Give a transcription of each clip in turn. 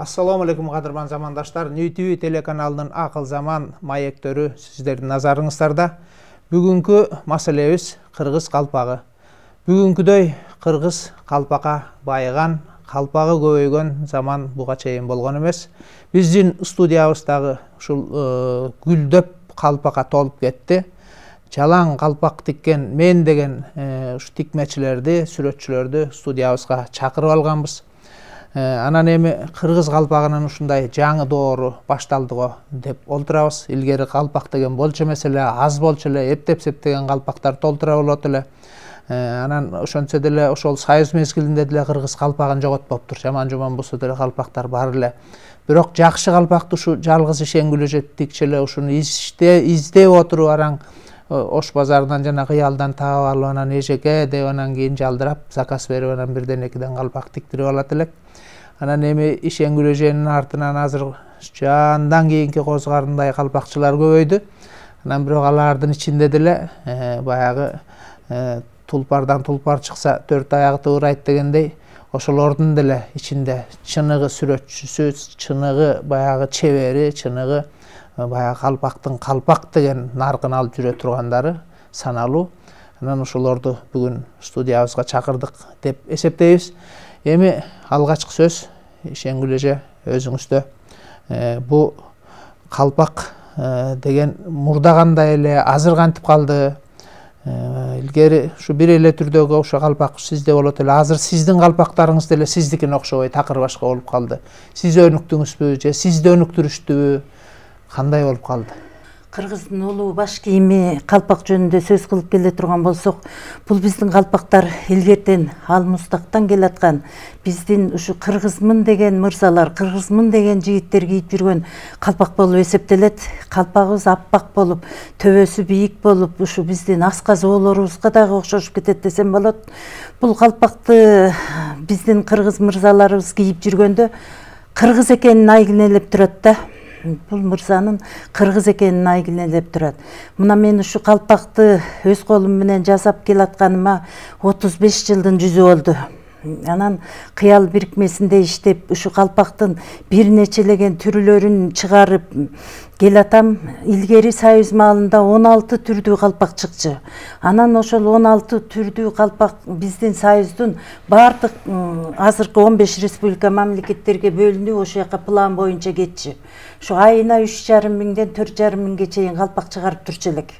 Assalamu alaikum qadırman zamandaşlar. New TV telekanalının Akıl Zaman mayektörü sizlerin nazarыңыздарда. Бүгүнкү маселебиз Кыргыз калпагы. Бүгүнкүдөй Кыргыз калпакка байыган, калпагы көбөйгөн заман буга чейин болгон эмес. Биздин студиябыздагы ушул гүлдөп калпакка толуп кетти. Жалаң калпак тиккен мен деген ушу тикмечилерди, сүрөтчүлөрдү студиябызга чакырып алганбыз. Анан эми Кыргыз калпагынын ушундай жаңы доору башталдыго деп олтурабыз. Илгери калпак деген болчу эмес эле, аз болчу эле, эптеп септеген калпактар толтура болот эле. Анан ошончо деле ошол союз мезгилинде деле Кыргыз калпагын жоготпоптур. Жаман болсо деле калпактар бар эле. Бирок жакшы калпакты ушу жалгыз ишенгүлөжө тикчеле ушуну издеп отуруп араң Ош базарынан жана кыялдан таап алып анан эжеке деп анан кийин жалдырап заказ берип анан бирден-экиден калпак тиктирип алат элек. Анан эми ишенгүлөжөнүн артынан азыр жандан кийинки козгарындай калпакчылар көбөйдү. Анан бирок алардын ичинде деле баягы тулпардан тулпар чыкса төрт аягы тыбырайт дегендей, ошолордун деле ичинде чыныгы сүрөтчүсү, чыныгы баягы чебери, чыныгы баягы калпактын калпак деген наркын алып жүрө тургандары саналуу. Анан ошолорду бүгүн студиябызга чакырдык деп эсептейбиз. Эми алгачкы сөз ишенгүлөжө өзүңүздө. Бу калпак деген мурда кандай эле, азыр кантип калды? Илгери ушу бир эле түрдөгү ошо калпак сизде болот эле. Азыр сиздин калпактарыңыз деле сиздикине окшобой такыр башка болуп калды. Сиз өнүктүңүзбү же сизди өнүктүрүштүбү? Кандай болуп калды? Кыргыздын улуу баш кийими калпак жөнүндө сөз кылып келе турган болсок, бул биздин калпактар илгертен ал мустактан келаткан. Биздин ушу кыргызмын деген мырзалар, кыргызмын деген жигиттер кийип жүргөн калпак болуп эсептелет. Калпагыбыз аппак болуп, төбөсү бийик болуп, ушу биздин аска зоолорубузга дагы окшошуп кетет десем болот. Бул калпакты биздин кыргыз мырзаларыбыз кийип жүргөндө кыргыз экенин айгинелеп турат да. Бул мырзанын кыргыз экенин айгинелеп турат. Мына мен ушу калпакты өз колум менен жасап келатканыма 35 жылдын жүзү болду. Анан кыял бирикмесинде иштеп, ушу калпактын бир нечелеген түрлөрүн чыгарып келатам. Илгери союз маалында 16 түрдүү калпак чыкчу. Анан ошол 16 түрдүү калпак биздин союздун бардык азыркы 15 республика мамлекеттерге бөлүнүп, ошол жака план боюнча кетчү. Ошо айына 3,5 миңден 4,5 миңге чейин калпак чыгарып турчу элек.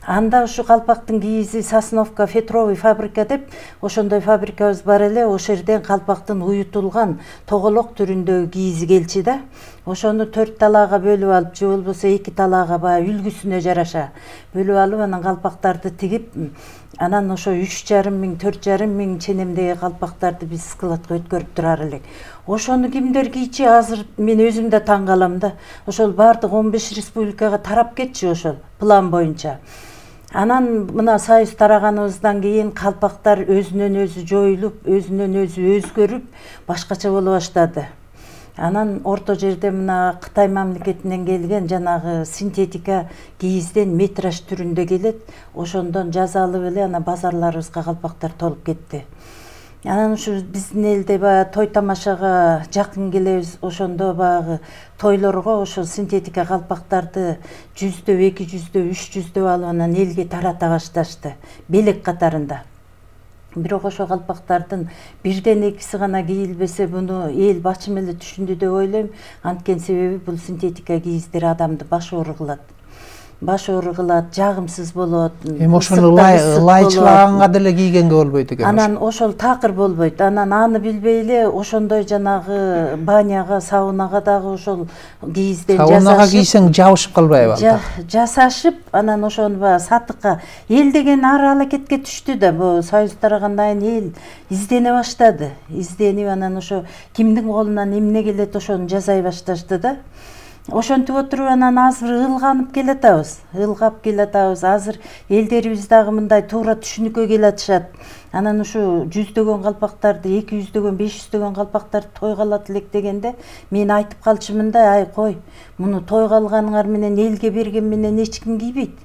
Анда ушу калпактын кийизи Сосновка Фетровый фабрика деп, ошондой фабрикабыз бар эле. Ошол жерден калпактын уютулган тоголок түрүндөгү кийизи келчи да. Ошону 4 талаага бөлүп алып, же болбосо 2 талаага баягы үлгүсүнө жараша бөлүп алып, анан калпактарды тигип, анан ошо 3,5 миң, 4,5 миң ченемдеги калпактарды биз складка өткөрүп турар элек. Ошону кимдер кийчи, азыр мен өзүм да таң калам да. Ошол бардык 15 республикага тарап кетчү ошол план боюнча. Анан мына союз тараганыбыздан кийин калпактар өзүнөн өзү жоюлуп, өзүнөн өзү өзгөрүп, башкача боло баштады. Анан орто жерде мына Кытай мамлекетинен келген жанагы синтетика кийизден метраж түрүндө келет. Ошондон жаза алып эле ана базарларыбызга калпактар толуп кетти. Анан ушу биздин элде баягы той тамашага жакын келебиз. Ошондо баягы тойлорго ошол синтетика калпактарды 100дөп, 200дөп, 300дөп алып анан элге тарата башташты, белек катарында. Бирок ошол калпактардын бирден экиси гана кийилбесе, буну эл бачым эле түшүндү деп ойлойм. Анткени себеби бул синтетика кийиздер адамды баш оору кылат. Баш оору кылат, жагымсыз болот. Эми ошону лайчылаганга деле кийгенге болбойт экен. Анан ошол такыр болбойт. Анан аны билбей эле ошондой жанагы баняга, саунага дагы ошол кийизден жасашып. Саунага кийсең жабышып калбайбы? Жасашып, анан ошону баягы сатыкка эл деген ар аракетке түштү да. Бу союз тарагандан кийин эл издене баштады. Изденип анан ошо кимдин колунан эмне келет ошону жасай башташты да. ошентип отуруп анан азыр ылгап келатабыз. Азыр элдерибиз дагы мындай туура түшүнүккө келатышат. Анан ушу 100дөгөн калпактарды, 200дөгөн, 500дөгөн калпактарды тойго алат элек дегенде мен айтып калчумун да, ай кой, муну тойго алганыңар менен элге берген менен эч ким кийбейт.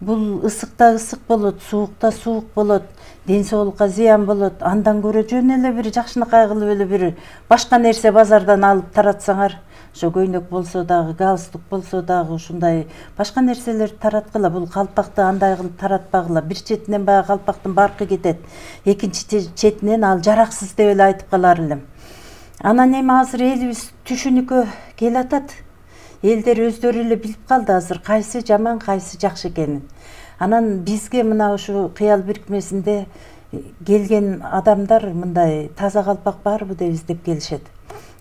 Бул ысыкта ысык болот, суукта суук болот, ден соолукка зыян болот. Андан көрө жөн эле бир жакшынакай кылып эле бир башка нерсе базардан алып таратсаңар, ошо көйнөк болсо дагы, галстук болсо дагы ушундай башка нерселерди тараткыла. Бул калпакты андай кылып таратпагыла. Бир четинен баягы калпактын баркы кетет, экинчи четинен ал жараксыз деп эле айтып калар элем. Анан эми азыр элибиз түшүнүккө келатат. Элдер өздөрү эле билип калды азыр кайсы жаман, кайсы жакшы экенин. Анан бизге мына ушу кыял бирикмесинде келген адамдар мындай таза калпак барбы деп келишет.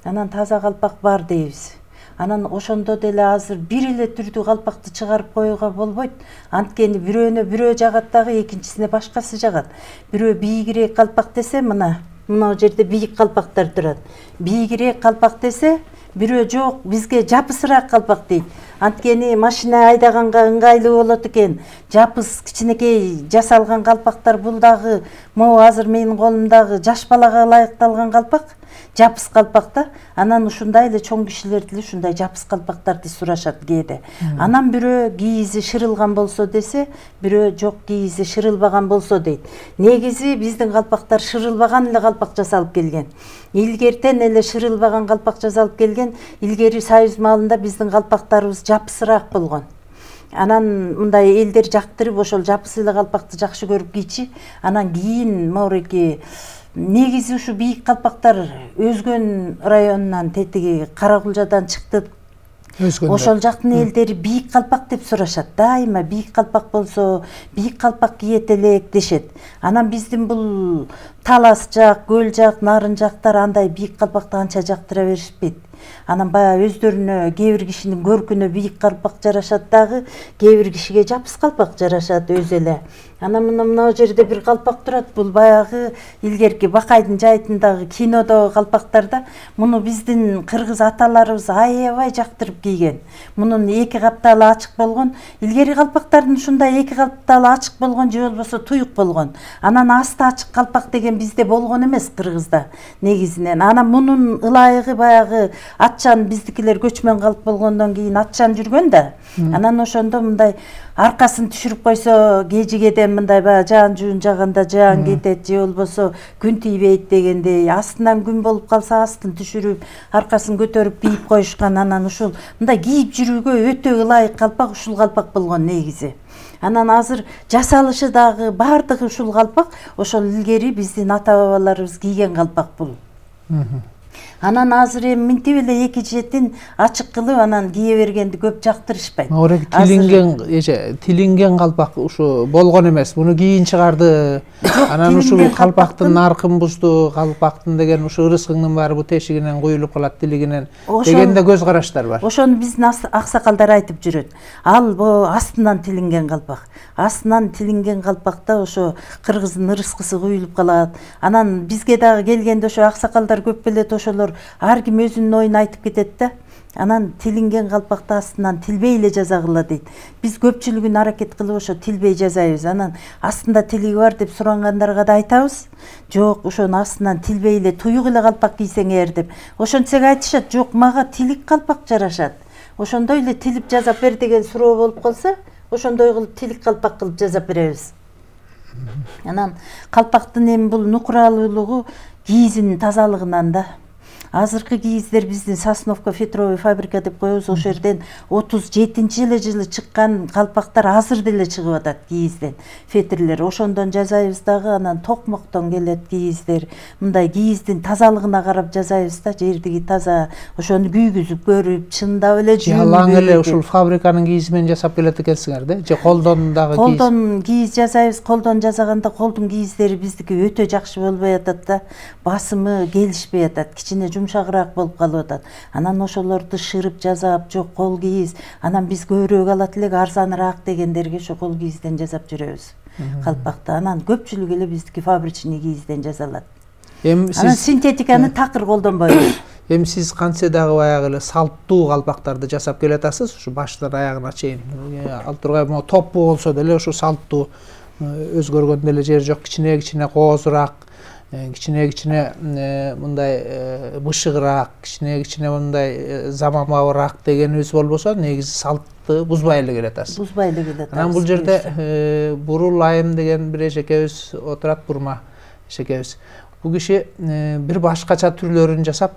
Анан таза калпак бар дейбиз. Анан ошондо деле азыр бир эле түрдүү калпакты чыгарып коюуга болбойт. Анткени бирөөнө бирөө жагат дагы, экинчисине башкасы жагат. Бирөө бийигирээк калпак десе, мына жерде бийик калпактар турат. Бийигирээк калпак десе, бирөө жок, бизге жапысыраак калпак дейт. Анткени машина айдаганга ыңгайлуу болот экен. Жапыс кичинекей жасалган калпактар, бул дагы могу азыр менин колумдагы жаш балага ылайыкталган калпак, жапыс калпакта. Анан ушундай эле чоң кишилер деле ушундай жапыс калпактарды сурашат кээде. Анан бирөө кийизи шырылган болсо десе, бирөө жок, кийизи шырылбаган болсо дейт. Негизи биздин калпактар шырылбаган эле калпак жасалып келген. Илгертен эле шырылбаган калпак жасалып келген. Илгери Союз маалында биздин калпактарыбыз жапысыраак болгон. Анан мындай элдер жактырып ошол жапыс эле калпакты жакшы көрүп кийчи. Анан кийин моореки негизи ушу бийик калпактар Өзгөн районунан, тетиги Каракулжадан чыкты. Ошол жактын элдери бийик калпак деп сурашат. Дайыма бийик калпак болсо, бийик калпак кийет элек дешет. Анан биздин бул Талас жак, Көл жак, Нарын жактар андай бийик калпакты анча жактыра беришпейт. Анан баягы өздөрүнө кээ бир кишинин көркүнө бийик калпак жарашат дагы, кээ бир кишиге жапыс калпак жарашат өзү эле. Анан мына жерде бир калпак турат. Бул баягы илгерки Бакайдын жайытындагы кинодогу калпактарда. Муну биздин кыргыз аталарыбыз аябай жактырып кийген. Мунун эки капталы ачык болгон. Илгери калпактардын ушундай эки капталы ачык болгон же болбосо туюк болгон. Анан асты ачык калпак деген бизде болгон эмес, кыргызда негизинен. Анан мунун ылайыгы баягы атчан, биздикилер көчмөн калып болгондон кийин атчан жүргөн да. Анан ошондо мындай аркасын түшүрүп койсо, кежигеден мындай баягы жаан жуун жаганда жаан кетет, же болбосо күн тийбейт дегендей, астынан күн болуп калса астын түшүрүп, аркасын көтөрүп кийип коюшкан. Анан ушул мындай кийип жүрүүгө өтө ылайык калпак ушул калпак болгон негизи. Анан азыр жасалышы дагы бардыгы ушул калпак, ошол илгери биздин ата бабаларыбыз кийген калпак бул. Анан азыр эми минтип эле эки четин ачык кылып анан кие бергенди көп жактырышпайт. Орек тилинген калпак ушу болгон эмес. Муну кийин чыгарды. Анан ушу калпактын наркын бузду, калпактын деген ушу ырыскыңдын баары бу тешигинен куюлуп калат, тилигинен дегенде көз караштар бар. Ошону биздин аксакалдар айтып жүрөт. Ал бу астынан тилинген калпак. Астынан тилинген калпакта ошо кыргыздын ырыскысы куюлуп калат. Анан бизге дагы келгенде ошо аксакалдар көп белет, ошолор ар ким өзүнүн оюн айтып кетет да. Анан тилинген калпакты астынан тилбей эле жазагыла дейт. Биз көпчүлүгүн аракет кылып ошо тилбей жазайбыз. Анан астында тилиги бар деп сурангандарга да айтабыз. Жок, ошонун астынан тилбей эле туюк эле калпак кийсеңер деп. Ошентсек айтышат, жок, мага тилик калпак жарашат. Ошондой эле тилип жазап бер деген суроо болуп калса, ошондой кылып тилик калпак кылып жазап беребиз. Анан калпактын эми бул нукуралуулугу кийизинин тазалыгынан да. Азыркы кийиздер биздин Сосновка фетровый фабрика деп коебуз. Ошол жерден 37-эле жылы чыккан калпактар азыр деле чыгып атат кийизден. Фетрлер ошондон жасайбыз дагы. Анан токмоктон келет кийиздер. Мындай кийиздин тазалыгына карап жасайбыз да, жердиги таза. Ошону күйгүзүп көрүп, чындап эле жүйүп. Ялаң эле ушул фабриканын кийизи менен жасап келет экенсиңер да? Же колдон дагы кийиз? Колдон кийиз жасайбыз. Колдон жасаганда колдун кийиздери биздики өтө жакшы болбой атат да. Басымы келишпей атат. Кичине жумшагыраак болуп калып атат. Анан ошолорду шырып жасап, жок кол кийиз, анан биз көбүрөөк алат элек, арзаныраак дегендерге ошо кол кийизден жасап жүрөбүз. Калпакты анан көпчүлүгү эле биздики фабричный кийизден жасалат. Анан синтетиканы такыр колдонбойбуз. Эми сиз кантсе дагы баягы эле салттуу калпактарды жасап келатасыз, ушу баштан аягына чейин. Ал тургай могу топпу болсо деле ушу салттуу өзгөргөн деле жери жок, кичине коозураак, кичине мындай бышыгыраак, кичине мындай заманбабыраак дегенибиз болбосо, негизи салтты бузбай эле келатасыз. Бузбай эле келатасыз. Анан бул жерде Бурул Айым деген бир эжекебиз отурат, Бурма эжекебиз. Бул киши бир башкача түрлөрүн жасап,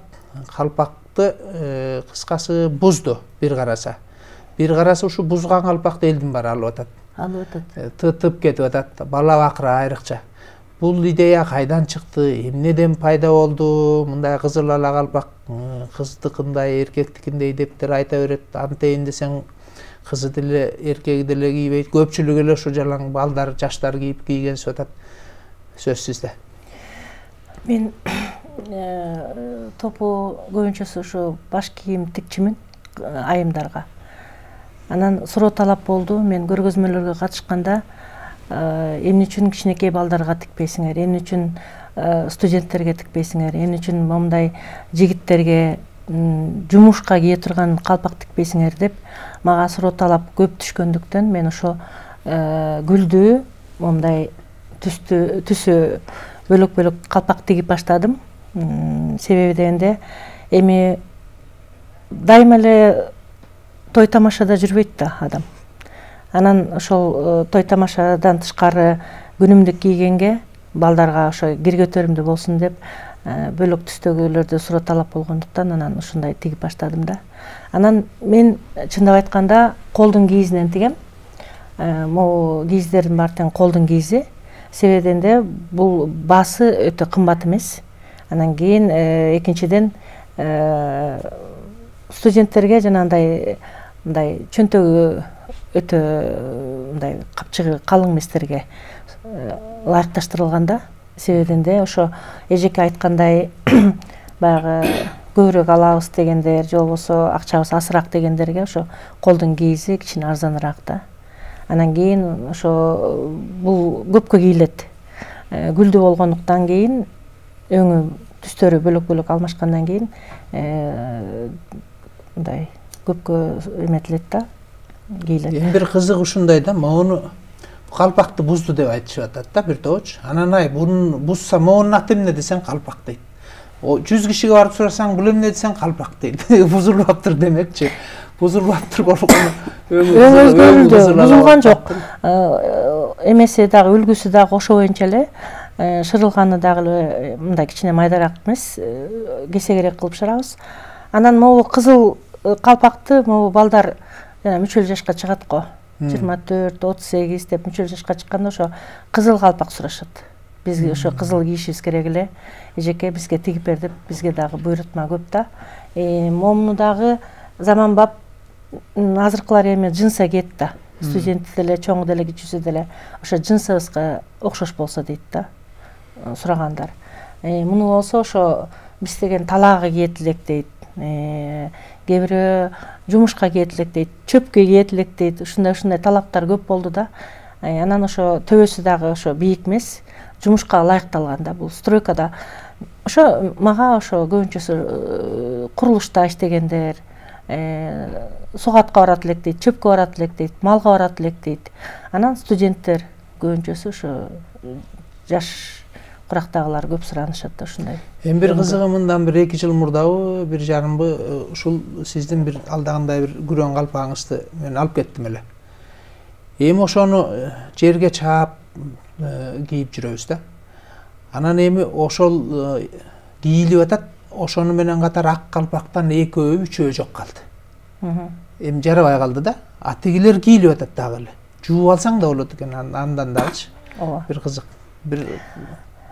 калпакты кыскасы бузду бир караса. Бир караса ушу бузган калпакты элдин баары алып атат. Тытып кетип атат, бала бакыра айрыкча. Бул идея кайдан чыкты, эмнеден пайда болду, мындай кызыл ала калпак кыздыкындай, эркектикиндей дептер айта берет. Антейин десең кызы деле, эркеги деле кийбейт. Көпчүлүгү эле ушу жалаң балдар, жаштар кийгенсип атат. Сөз сизде. Мен топу көбүнчөсү ушу баш кийим тикчимин айымдарга. Анан суроо талап болду. Мен көргөзмөлөргө катышканда эмне үчүн кичинекей балдарга тикпейсиңер, эмне үчүн студенттерге тикпейсиңер, эмне үчүн момундай жигиттерге жумушка кие турган калпак тикпейсиңер деп мага суроо талап көп түшкөндүктөн мен ошо гүлдүү момундай түсү бөлөк калпак тигип баштадым. Себеби дегенде эми дайыма эле той тамашада жүрбөйт да адам. Анан ошол той тамашадан тышкары күнүмдүк кийгенге балдарга ошо кир көтөрүмдүү болсун деп бөлөк түстөгүлөрдө суроо талап болгондуктан анан ушундай тигип баштадым да. Анан мен чындап айтканда колдун кийизинен тигем. Могу кийиздердин баары тең колдун кийизи. Себеби дегенде бул баасы өтө кымбат эмес. Анан кийин экинчиден студенттерге жанагындай мындай чөнтөгү өтө мындай капчыгы калың эместерге ылайыкташтырылган да. Себеби дегенде ошо эжеке айткандай баягы көбүрөөк алабыз дегендер, же болбосо акчабыз азыраак дегендерге ошо колдун кийизи кичине арзаныраак да. Анан кийин ошо бул көпкө кийилет. Гүлдүү болгондуктан кийин өңү түстөрү бөлөк алмашкандан кийин мындай көпкө эметилет да, кийилет. Эми бир кызык ушундай да, могуну калпакты бузду деп айтышып атат да бир тооч. Анан буну бузса могунун аты эмне десең калпак дейт. 100 кишиге барып сурасаң бул эмне десең калпак дейт. Бузулбаптыр демекчи. Бузулбаптыр болгону бузулган жок. Эмеси дагы үлгүсү дагы ошо боюнча эле, шырылганы дагы мындай кичине майдараак эмес, кесегерээк кылып шырабыз. Анан могу кызыл калпакты могу балдар мүчөл жашка чыгат го. 24, 38 деп мүчөл жашка чыкканда ошо кызыл калпак сурашат. Бизге ошо кызыл кийишибиз керек эле. Эжеке бизге тигип бер деп бизге дагы буйрутма көп да. Момуну дагы заманбап азыркылар эми джинса кийет да. Студент деле, чоң деле, кичүүсү деле ошо джинсыбызга окшош болсо дейт да сурагандар. Муну болсо ошо биз деген талаага кийет элек дейт. Кээ бирөө жумушка кийет элек дейт, чөпкө кийет элек дейт. Ушундай талаптар көп болду да. Анан ошо төбөсү дагы ошо бийик эмес, жумушка ылайыкталган да. Бул стройкада ошо мага ошо көбүнчөсү курулушта иштегендер, сугатка барат элек дейт, чөпкө барат элек дейт, малга барат элек дейт. Анан студенттер көбүнчөсү ошо жаш курактагылар көп суранышат да ушундай. Эми бир кызыгы мындан бир 2 жыл мурдабы, 1 жарымбы ушул сиздин бир алдагандай бир күрөң калпагыңызды мен алып кеттим эле. Эми ошону жерге чаап кийип жүрөбүз да. Анан эми ошол кийилип атат, ошону менен катар ак калпактан 2-3 жок калды. Эми жарабай калды да. А тигилер кийилип атат дагы эле. Жууп алсаң да болот экен андан дагычы. Ооба. Бир кызык.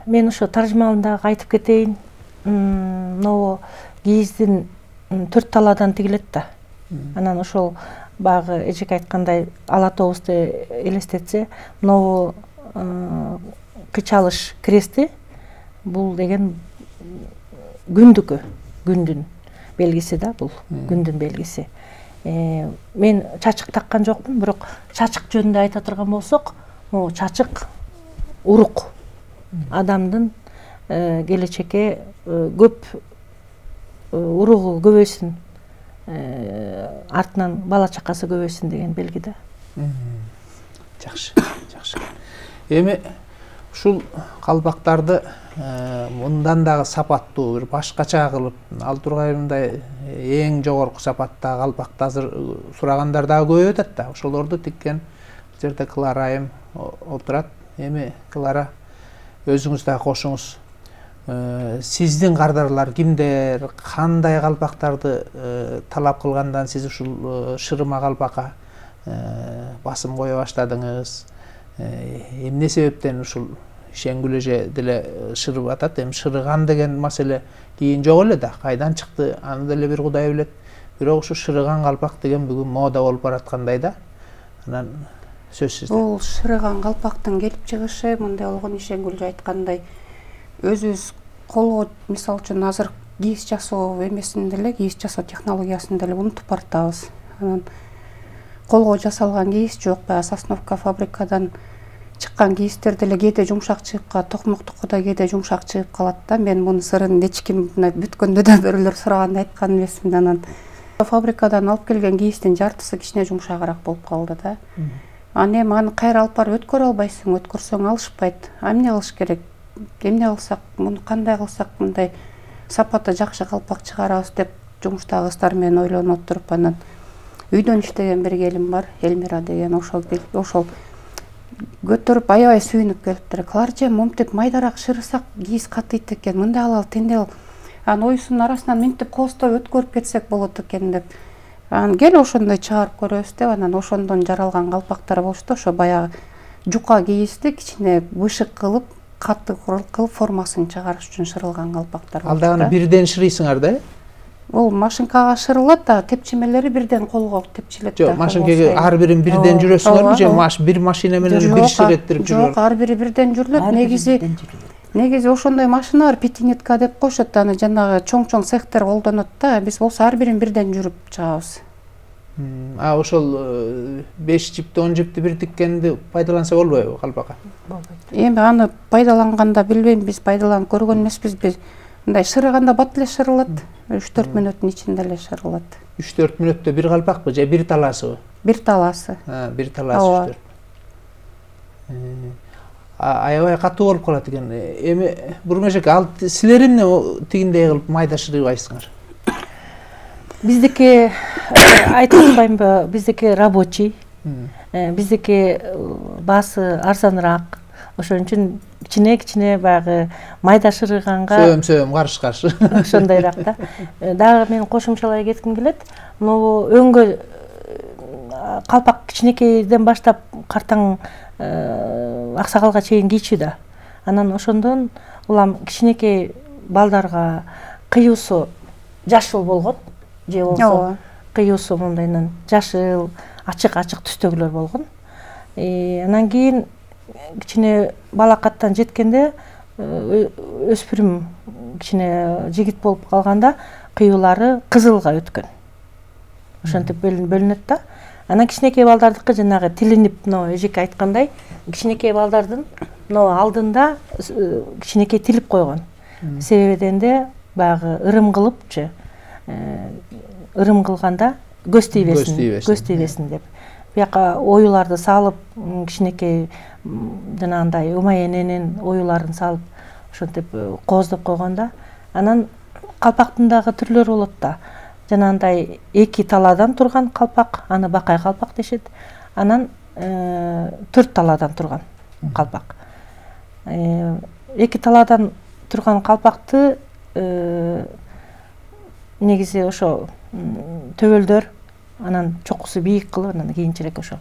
Мен ошо таржымалында айтып кетейин. Могу кийиздин 4 талаадан тигилет да. Анан ошол баягы эжеке айткандай ала тобузду элестетсе, могу кычалыш крести бул деген күндүкү, күндүн белгиси да бул, күндүн белгиси. Мен чачык таккан жокмун, бирок чачык жөнүндө айта турган болсок, могу чачык урук. Адамдын келечекке көп уругу көбөйсүн, артынан бала чакасы көбөйсүн деген белги да. Жакшы. Эми ушул калпактарды мындан дагы сапаттуу бир башкача кылып ал тургай мындай эң жогорку сапаттагы калпакты азыр сурагандар дагы көбөйүп атат да. Ошолорду тиккен бул жерде Клара айым отурат. Эми Клара, өзүңүз дагы кошуңуз. Сиздин кардарлар кимдер, кандай калпактарды талап кылгандан сиз ушул шырыма калпакка басым кое баштадыңыз? Эмне себептен ушул Шенгүл эже деле шырып атат? Эми шырыган деген маселе кийин жок эле да, кайдан чыкты аны деле бир Кудай билет. Бирок ушу шырыган калпак деген бүгүн мода болуп бараткандай да. Анан сөз сизде. Бул шырыган калпактын келип чыгышы мындай болгон, Шенгүл айткандай, өзүбүз колго мисалы үчүн азыр кийиз жасоо эмесин деле, кийиз жасоо технологиясын деле унутуп баратабыз. Анан колго жасалган кийиз жок, баягы сосновка фабрикадан чыккан кийиздер деле кээде жумшак чыгып калат, токмоктуку да кээде жумшак чыгып калат да. Мен мунун сырын эч ким бүткөндө да бирөөлөр сураганда айткан эмесмин. Анан фабрикадан алып келген кийиздин жартысы кичине жумшагыраак болуп калды да. Аны эми аны кайра алып барып өткөрө албайсың, өткөрсөң алышпайт. Эмне кылыш керек? Эмне кылсак, муну кандай кылсак мындай сапаты жакшы калпак чыгарабыз деп жумуштагы кыздар менен ойлонуп отуруп, анан үйдөн иштеген бир келин бар, Элмира деген, ошол көтөрүп аябай сүйүнүп келиптир. Кларче, момтип майдараак шырысак кийиз катыйт экен, мындай алалы тендел. Анан оюсунун арасынан минтип коостой өткөрүп кетсек болот экен деп. Анан кел ошондой чыгарып көрөбүз деп, анан ошондон жаралган калпактар болушту. Ошо баягы жука кийизди кичине бышык кылып, катты кылып формасын чыгарыш үчүн шырылган калпактар. Ал дагы бирден шырыйсыңар да? Бул машинкага шырылат да, тепчемелери бирден колго тепчилет да. Жок, машинкага ар бирин бирден жүрөсүңөрбү же бир машина менен бир шыреттирип жүрөсүңөр? Жок, ар бири бирден жүрүлөт. Негизи ошондой машина бар, пятинетка деп коюшат, аны жанагы чоң-чоң цехтер колдонот да. Биз болсо ар бирин бирден жүрүп чыгабыз. Ошол 5 жипти 10 жипти бир тиккенди пайдаланса болбойбу калпакка? Болбойт. Эми аны пайдаланганда билбейм, биз пайдаланып көргөн эмеспиз. Биз мындай шырыганда бат эле шырылат. 3-4 мүнөттүн ичинде эле шырылат. 3-4 мүнөттө бир калпакпы же бир талаасыбы? Бир талаасы. Бир талаасы 3-4. Аябай катуу болуп калат экен. Эми Бурмежек, ал силер эмне тигиндей кылып майда шырыйбайсыңар? Биздики айтып атпаймынбы, биздики рабочий. Биздики баасы арзаныраак. Ошон үчүн кичине баягы майда шырыйганга сөйөм каршы ошондойраак да. Дагы мен кошумчалай кетким келет. Могу өңгө калпак кичинекейден баштап картаң аксагалга чейин кийчү да. Анан ошондон улам кичинекей балдарга кыюусу жашыл болгон, же болсо кыюусу мындайынан жашыл, ачык түстөгүлөр болгон. Анан кийин кичине балакаттан жеткенде өспүрүм кичине жигит болуп калганда кыюулары кызылга өткөн. Ошентип бөлүнөт да. Анан кичинекей балдардыкы жанагы тилинип, эжеке айткандай, кичинекей балдардын алдында кичинекей тилип койгон. Себебинде баягы ырым кылыпчы, ырым кылганда көз тийбесин деп. Бияка оюларды салып, кичинекей жанагындай Умай эненин оюларын салып, ошентип кооздоп койгонда, анан калпактын дагы түрлөрү болот да. Жанагындай 2 талаадан турган калпак, аны бакай калпак дешет. Анан 4 талаадан турган калпак. 2 талаадан турган калпакты негизи ошо төбөлдөр, анан чокусу бийик кылып, анан кийинчерээк ошо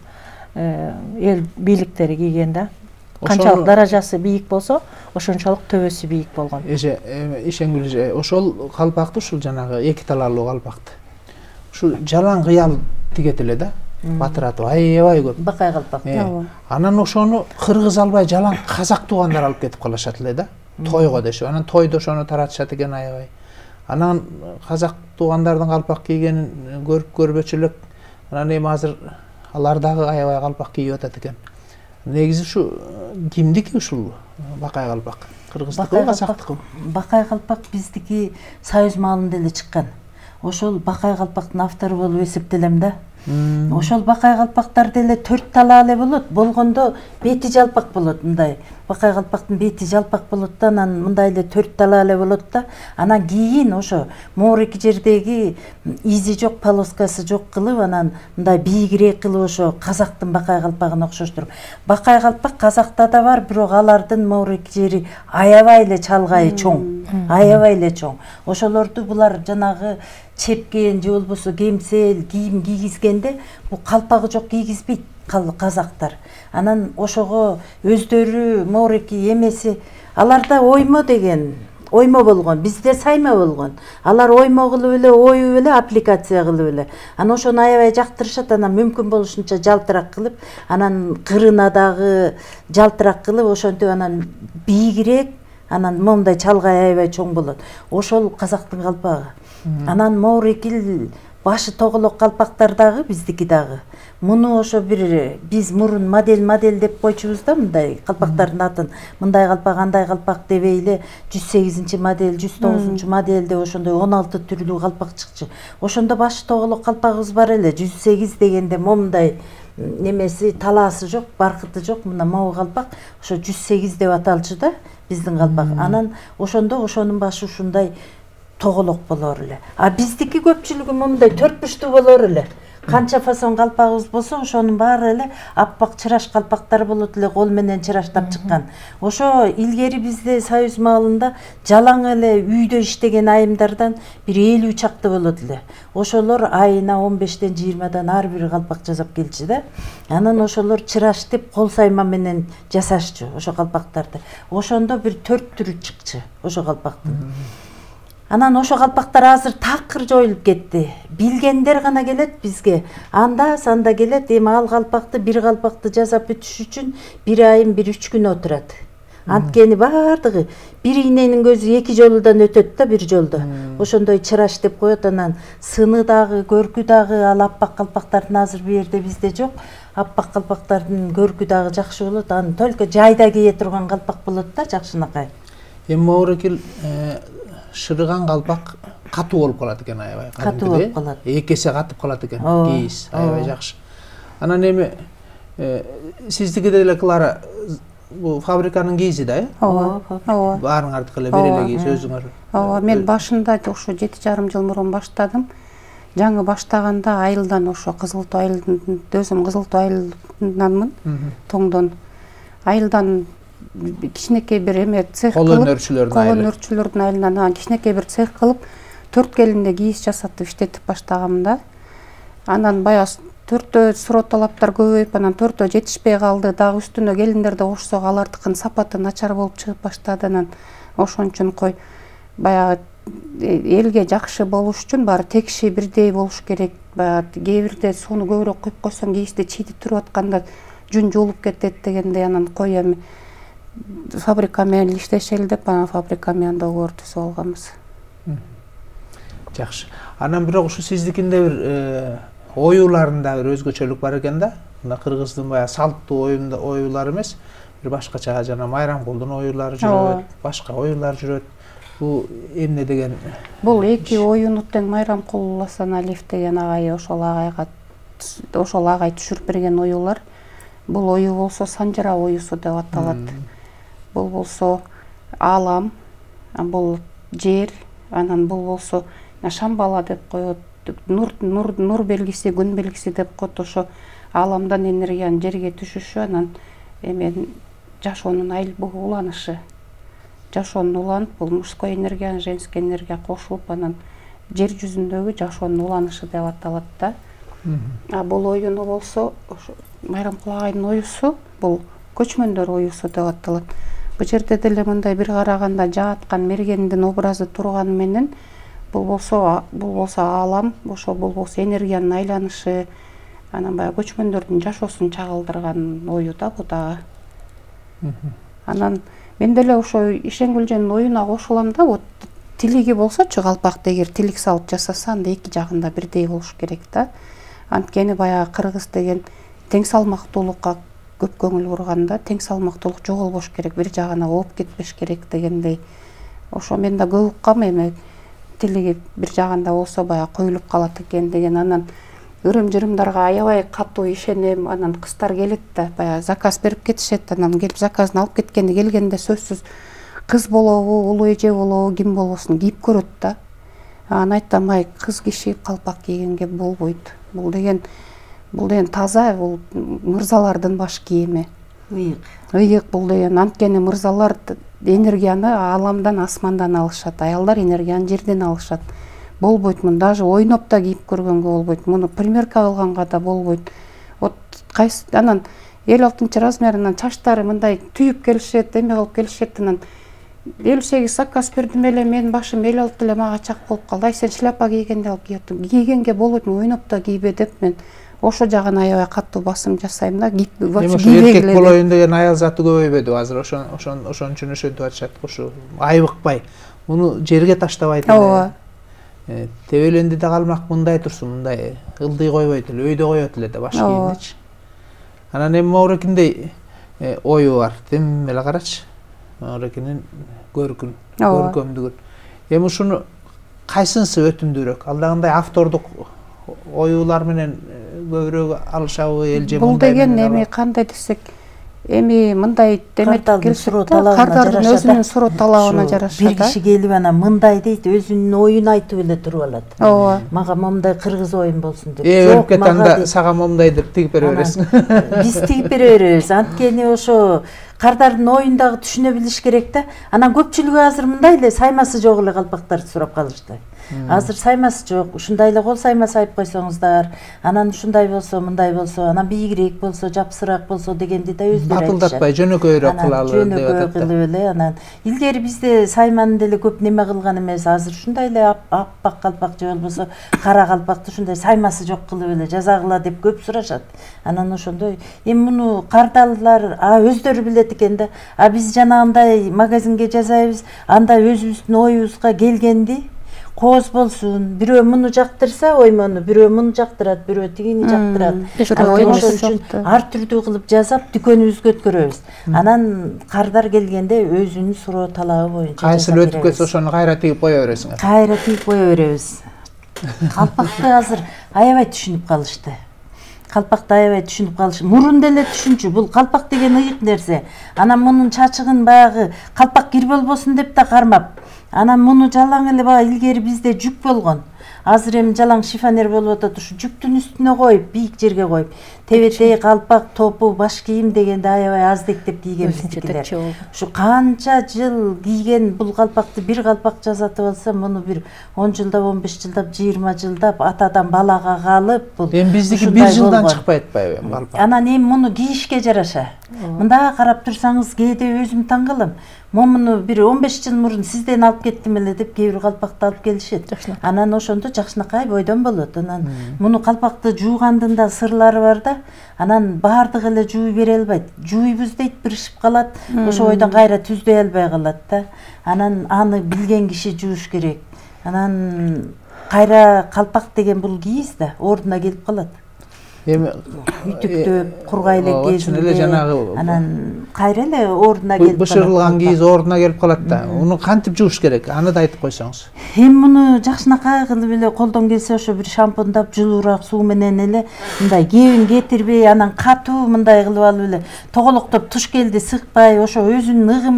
эл бийликтери кийген да. Канчалык даражасы бийик болсо, ошончолук төбөсү бийик болгон. Шенгүл эже, ошол калпакты, ушул жанагы 2 талаалуу калпакты ушул жалаң кыял тигет эле да, батыратып аябай көп. Бакай калпак. Анан ошону кыргыз албай жалаң казак туугандар алып кетип калышат эле да, тойго дешип. Анан тойдо ошону таратышат экен аябай. Анан казак туугандардын калпак кийгенин көрүп көрбөчү элек. Анан эми азыр алар дагы аябай калпак кийип атат экен. Негизи ушу кимдики ушул Бакай калпак? Кыргыздыкыбы, казактыкыбы? Бакай калпак биздики Союз маалында эле чыккан. Ошол Бакай калпактын автору болуп эсептелем да. Ошол Бакай калпактар деле 4 талаа эле болот. Болгондо бети жалпак болот мындай. Бакай калпактын бети жалпак болот да, анан мындай эле 4 талаа эле болот да. Анан кийин ошо моорики жердеги изи жок, полоскасы жок кылып, анан мындай бийигирээк кылып ошо казактын Бакай калпагына окшоштуруп. Бакай калпак казакта да бар, бирок алардын моорики жери аябай эле чалгайы чоң. Аябай эле чоң. Ошолорду булар жанагы чепкен же болбосо кемсел кийим кийгизгенде бул калпагы жок кийгизбейт казактар. Анан ошого өздөрү моорики эмеси, аларда оймо деген оймо болгон, бизде сайма болгон. Алар оймо кылып эле, оюп эле, аппликация кылып эле. Анан ошону аябай жактырышат, анан мүмкүн болушунча жалтырак кылып, анан кырына дагы жалтырак кылып, ошентип анан бийигирээк, анан момундай чалгай аябай чоң болот. Ошол казактын калпагы. Анан моорикил башы тоголок калпактар дагы биздики дагы. Муну ошо бир биз мурун модель деп койчубуз да, мындай калпактардын атын. Мындай калпак, андай калпак дебей эле 108 модель, 109 модель деп ошондой 16 түрлүү калпак чыкчу. Ошондо башы тоголок калпагыбыз бар эле, 108 дегенде момундай немеси талаасы жок, баркыты жок, мына могу калпак ошо 108 деп аталчу да биздин калпак. Анан ошондо ошонун башы ушундай тоголок болор эле. А биздики көпчүлүгү мындай 4 бурчтуу болор эле. Канча фасон калпагыбыз болсо, ошонун баары эле аппак чыраш калпактар болот эле, кол менен чыраштап чыккан. Ошо илгери бизде Союз маалында жалаң эле үйдө иштеген айымдардан бир 50 чакты болот эле. Ошолор айына 15ден 20дан ар бир калпак жасап келчү да. Анан ошолор чыраш деп кол сайма менен жасашчу ошо калпактарды. Ошондо бир 4 түрү чыкчу ошо калпактын. Анан ошо калпактар азыр такыр жоюлуп кетти. Билгендер гана келет бизге. Анда санда келет, эми ал калпакты, бир калпакты жасап бүтүш үчүн 1 айым 1-3 күн отурат. Анткени баардыгы бирийненин көзү 2 жолудан өтөт да, бир жолдо. Ошондой чыраш деп коет. Анан сыны дагы, көркү дагы ал аппак калпактардын азыр бу жерде бизде жок. Аппак калпактардын көркү дагы жакшы болот. Аны только жайда кие турган калпак болот да, жакшынакай. Эми моорикил шырыган калпак катуу болуп калат экен, аябай. Катуу болуп калат. 2 эсе катып калат экен, кийиз, аябай жакшы. Анан эми сиздики деле Клара, бул фабриканын кийизи да, э? Ооба. Баарыңардыкы эле бир эле кийиз өзүңөр. Ооба, мен башында ошо 7,5 жыл мурун баштадым. Жаңы баштаганда айылдан ошо Кызылтоо айылынан, өзүм Кызылтоо айылынанмын, Тоңдон. Айылдан кичинекей бир эме цех кылып, кол өнөрчүлөрдүн айылынан кичинекей бир цех кылып, 4 келинде кийиз жасатып иштетип баштагам да. Анан баягы 4тө суроо талаптар көбөйүп, анан 4тө жетишпей калды. Дагы үстүнө келиндерди кошсок, алардыкынын сапаты начар болуп чыгып баштады. Анан ошон үчүн кой баягы элге жакшы болуш үчүн баары текши бирдей болуш керек. Баягы кээ бирде сууну көбүрөөк куюп койсоң, кийизди чийдип туруп атканда жүн жуулуп кетет дегендей. Анан кой эми фабрика менен иштешели деп, анан фабрика менен договор түзүп алганбыз. Жакшы. Анан бирок ушу сиздикинде бир оюларында бир өзгөчөлүк бар экен да. Мына кыргыздын баягы салттуу оюлары эмес, бир башкача жана Майрамкулдун оюлары жүрөт, башка оюлар жүрөт. Бул эмне деген? Бул 2 оюну тең Майрамкул Асаналиев деген агай ошол агай түшүрүп берген оюлар. Бул ою болсо Санжара оюсу деп аталат. Бул болсо Алам, бул жер, анан бул болсо Шамбала деп коет. Нур белгиси, күн белгиси деп коет. Ошо Аламдан энергиянын жерге түшүшү, анан эми жашоонун уланышы. Жашоонун уланып, бул мужской энергия, женский энергия кошулуп, анан жер жүзүндөгү жашоонун уланышы деп аталат да. А бул оюну болсо ошо Майрамкул агайдын оюсу, бул көчмөндөр оюсу деп аталат. Бул жерде деле мындай бир караганда жааткан мергендин образы турганы менен бул болсо Алам, ошо бул болсо энергиянын айланышы, анан баягы көчмөндөрдүн жашоосун чагылдырган ою да бу дагы. Анан мен деле ошо Ишенгүлженин оюна кошулам да, вот тилиги болсочу калпакты эгер тилик салып жасаса, анда 2 жагында бирдей болуш керек да. Анткени баягы кыргыз деген тең салмактуулукка көп көңүл бурганда тең салмактуулук жоголбош керек, бир жагына ооп кетпеш керек дегендей. Ошо мен да көп уккам, эми тилиги бир жагында болсо баягы коюлуп калат экен деген. Анан ырым-жырымдарга аябай катуу ишенем. Анан кыздар келет да, баягы заказ берип кетишет. Анан келип заказын алып кеткенде келгенде сөзсүз кыз болобу, улуу эже болобу, ким болбосун кийип көрөт да. Анан айтам, ай, кыз киши калпак кийгенге болбойт. Бул деген таза, бул мырзалардын баш кийими. Ыйык бул деген. Анткени мырзалар энергияны аламдан, асмандан алышат, аялдар энергияны жерден алышат. Болбойт мун, даже ойноп да кийип көргөнгө болбойт. Муну примерка кылганга да болбойт. Вот кайсы анан 56 размеринен чачтары мындай түйүп келишет, эме кылып келишет. Анан 58 заказ бердим эле, мен башым 56 эле мага чак болуп калды. Ай, сен шляпа кийгенде алып кийиптиң. Кийгенге болбойт, ойноп да кийбе деп мен ошо жагына аябай катуу басым жасайм да. Эркек болоюн деген аял заты көбөйбөдү азыр, ошон үчүн ошентип атышат. Ушу айбыкпай, муну жерге таштабайт эле. Тебеленди да калмак мындай турсун, мындай ылдый койбойт эле, өйдө коет эле да баш кийимдичи. Анан эми Моорекиндей ою бар, тем эле карачы. Моорекинин көркөмдүгүн. Эми ушуну кайсынысы өтүмдүүрөөк? Алдагындай автордук оюлар менен көбүрөөк алышабы, элже бул деген эми кандай десек, эми мындай демек келишет, кардардын өзүнүн суроо талабына жараша. Бир киши келип анан мындай дейт, өзүнүн оюн айтып эле туруп алат. Ооба. Мага момундай кыргыз оюм болсун деп. Өлүп кеткенде сага момундай деп тигип бере бересиң. Биз тигип бере беребиз. Анткени ошо кардардын оюн дагы түшүнө билиш керек да. Анан көпчүлүгү азыр мындай эле саймасы жок эле калпактарды сурап калышты. Азыр саймасы жок, ушундай эле кол саймасы айып койсоңуздар, анан ушундай болсо, мындай болсо, анан бийигирээк болсо, жапсыраак болсо дегенди да өздөрү айтышат. Батылдатпай жөнөкөйрөөк кылалы деп атат. Жөнөкөй кылып эле анан илгери бизде сайманы деле көп неме кылган эмес. Азыр ушундай эле аппак калпак же болбосо кара калпакты ушундай саймасы жок кылып эле жасагыла деп көп сурашат. Анан ошондой эми муну кардалар өздөрү билет экен да. Биз жанагындай магазинге жасайбыз, анда өзүбүздүн оюбузга келгенди кооз болсун, бирөө муну жактырса оймону, бирөө муну жактырат, бирөө тигини жактырат. Ошон үчүн ар түрдүү кылып жасап дүкөнүбүзгө өткөрөбүз. Анан кардар келгенде өзүнүн суроо талабы боюнча кайсыл өтүп кетсе ошону кайра тигип кое бересиңер. Кайра тигип кое беребиз. Калпакты азыр аябай түшүнүп калышты. Калпакты аябай түшүнүп калыш. Мурун деле түшүнчү. Бул калпак деген ыйык нерсе. Анан мунун чачыгын баягы калпак кир болбосун деп да кармап. Анан муну жалаң эле бага илгери бизде жүк болгон. Азыр эми жалаң шифонер болуп атат, ушу жүктүн үстүнө коюп, бийик жерге коюп, тебетей, калпак, топу, баш кийим дегенде аябай аздектеп кийген биздикилер. Ушу канча жыл кийген бул калпакты бир калпак жасатып алса, муну бир 10 жылдап, 15 жылдап, 20 жылдап атадан балага калып, бул эми биздики бир жылдан чыкпай атпайбы эми калпак. Анан эми муну кийишке жараша. Мында карап турсаңыз, кээде өзүм таң калам. Момуну бир 15 жыл мурун сизден алып кеттим эле деп кээ бир калпакты алып келишет. Анан ошондо жакшынакай бойдон болот. Анан муну калпакты жуугандын да сырлары бар да. Анан баардыгы эле жууй бере албайт. Жууйбуз дейт, биришип калат. Ошо бойдон кайра түздөй албай калат да. Анан аны билген киши жууш керек. Анан кайра калпак деген бул кийиз да, ордуна келип калат. Эми үтүктөп, кургай эле кезинде анан кайра эле ордуна келип калат. Бышырылган кийиз ордуна келип калат да. Уну кантип жууш керек? Аны да айтып койсоңуз. Эми муну жакшынакай кылып эле колдон келсе ошо бир шампундап, жылуураак суу менен эле мындай кебин кетирбей, анан катуу мындай кылып алып эле тоголоктоп туш келди сыкпай, ошо өзүнүн ыгы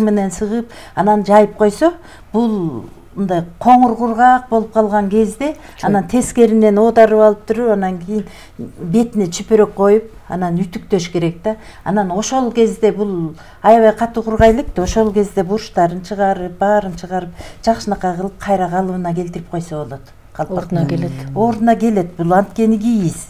менен сыгып, анан жайып койсо, бул мындай коңур кургак болуп калган кезде анан тескеринен оодарып алып туруп, анан кийин бетине чүпөрөк коюп, анан үтүктөш керек да. Анан ошол кезде бул аябай катуу кургай элек да, ошол кезде бурчтарын чыгарып, баарын чыгарып, жакшынакай кылып кайра калыбына келтирип койсо болот. Ордуна келет. Ордуна келет. Бул анткени кийиз.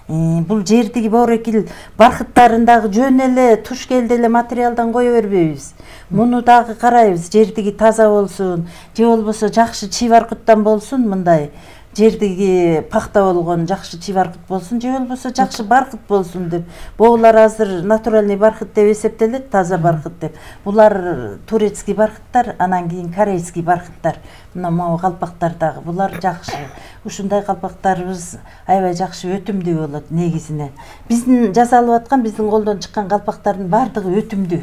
Бул жердиги Моорекил бархыттарын дагы жөн эле туш келди эле материалдан кое бербейбиз. Муну дагы карайбыз, жердиги таза болсун, же болбосо жакшы чий баркыттан болсун, мындай жердиги пахта болгон жакшы чибаркыт болсун же болбосо жакшы баркыт болсун деп. Булар азыр натуральный баркыт деп эсептелет, таза баркыт деп. Булар турецкий баркыттар, анан кийин корейский баркыттар. Мына могу калпактар дагы булар жакшы. Ушундай калпактарыбыз аябай жакшы, өтүмдүү болот негизинен. Биздин жасалып аткан, биздин колдон чыккан калпактардын баардыгы өтүмдүү.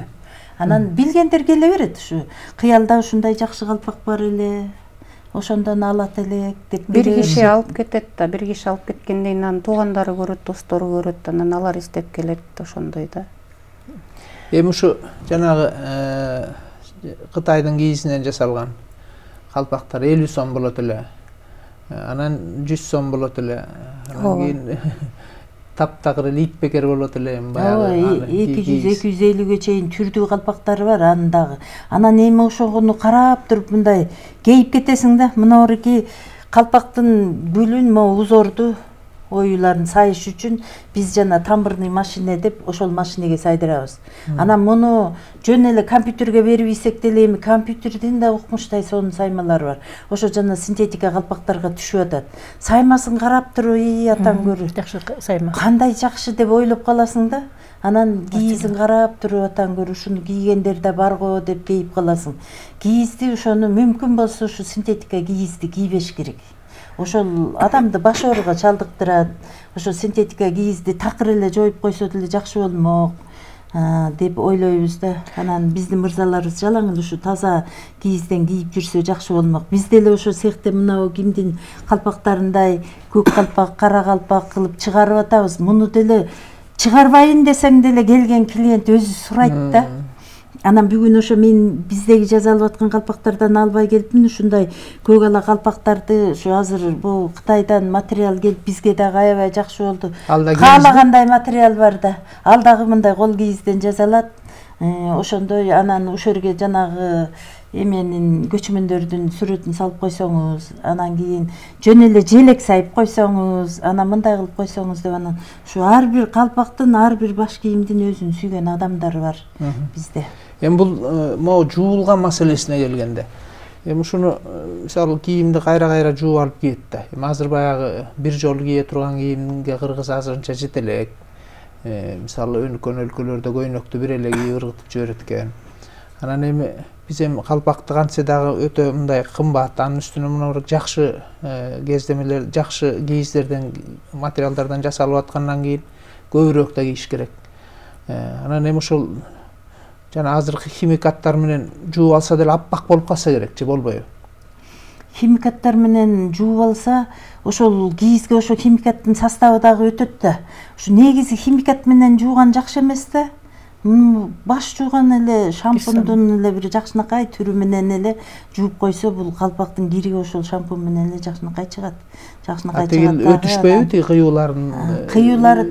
Анан билгендер келе берет, ушу кыялда ушундай жакшы калпак бар эле, ошондон алат элек деп. Бир киши алып кетет да, бир киши алып кеткенден кийин анын туугандары көрөт, достору көрөт, анан алар издеп келет, ошондой да. Эми ушу жанагы Кытайдын кийизинен жасалган калпактар 50 сом болот эле. Анан 100 сом болот эле. Анан кийин таптагыр эле итбекер болот эле. Баягы 200-250ге чейин түрдүү калпактары бар анын дагы. Анан эми ошону карап туруп мындай кейип кетесиң да. Мына калпактын гүлүн, могу узорду оюларын сайыш үчүн биз жана тамбырный машина деп ошол машинеге сайдырабыз. Анан муну жөн эле компьютерге берип ийсек деле эми компьютердин да укмуштай сонун саймалары бар. Ошо жана синтетика калпактарга түшүп атат. Саймасын карап туруп, атаң көрү. Жакшы сайма. Кандай жакшы деп ойлоп каласың да. Анан кийизин карап туруп, атаң көрү, ушуну кийгендер да барго деп кейип каласың. Кийизди ошону мүмкүн болсо ушу синтетика кийизди кийбеш керек. Ошол адамды баш ооруга чалдыктырат. Ошо синтетика кийизди такыр эле жоюп койсо деле жакшы болмок деп ойлойбуз да. Анан биздин мырзаларыбыз жалаң эле ушу таза кийизден кийип жүрсө жакшы болмок. Биз деле ошо цехте мынау кимдин калпактарындай көк калпак, кара калпак кылып чыгарып атабыз. Муну деле чыгарбайын десең деле келген клиент өзү сурайт да. Анан бүгүн ошо мен биздеги жасалып аткан калпактардан албай келипмин. Ушундай көк ала калпактарды ошо азыр бул Кытайдан материал келип бизге дагы аябай жакшы болду. Каалагандай материал бар да. Ал дагы мындай кол кийизден жасалат. Ошондой анан ошол жерге жанагы эменин көчмөндөрдүн сүрөтүн салып койсоңуз, анан кийин жөн эле желек сайып койсоңуз, анан мындай кылып койсоңуз деп, анан ушу ар бир калпактын, ар бир баш кийимдин өзүн сүйгөн адамдар бар бизде. Эми бул могу жуулган маселесине келгенде, эми ушуну мисалы кийимди кайра жууп алып кийет да. Эми азыр баягы бир жолу кие турган кийимге кыргыз азырынча жете элек. Мисалы өнүккөн өлкөлөрдө көйнөктү бир эле кийип ыргытып жиберет экен. Анан эми биз эми калпакты кантсе дагы өтө мындай кымбат, анын үстүнө мына жакшы кездемелер, жакшы кийиздерден, материалдардан жасалып аткандан кийин көбүрөөк да кийиш керек. Анан эми ошол жана азыркы химикаттар менен жууп алса деле аппак болуп калса керек же болбойбу? Химикаттар менен жууп алса, ошол кийизге ошо химикаттын составы дагы өтөт да. Ушу негизи химикат менен жууган жакшы эмес да. Баш жууган эле шампундун эле бир жакшынакай түрү менен эле жууп койсо, бул калпактын кириги ошол шампунь менен эле жакшынакай чыгат. Жакшынакай чыгат. Өтүшпөйбү тиги кыюуларын? Кыюулары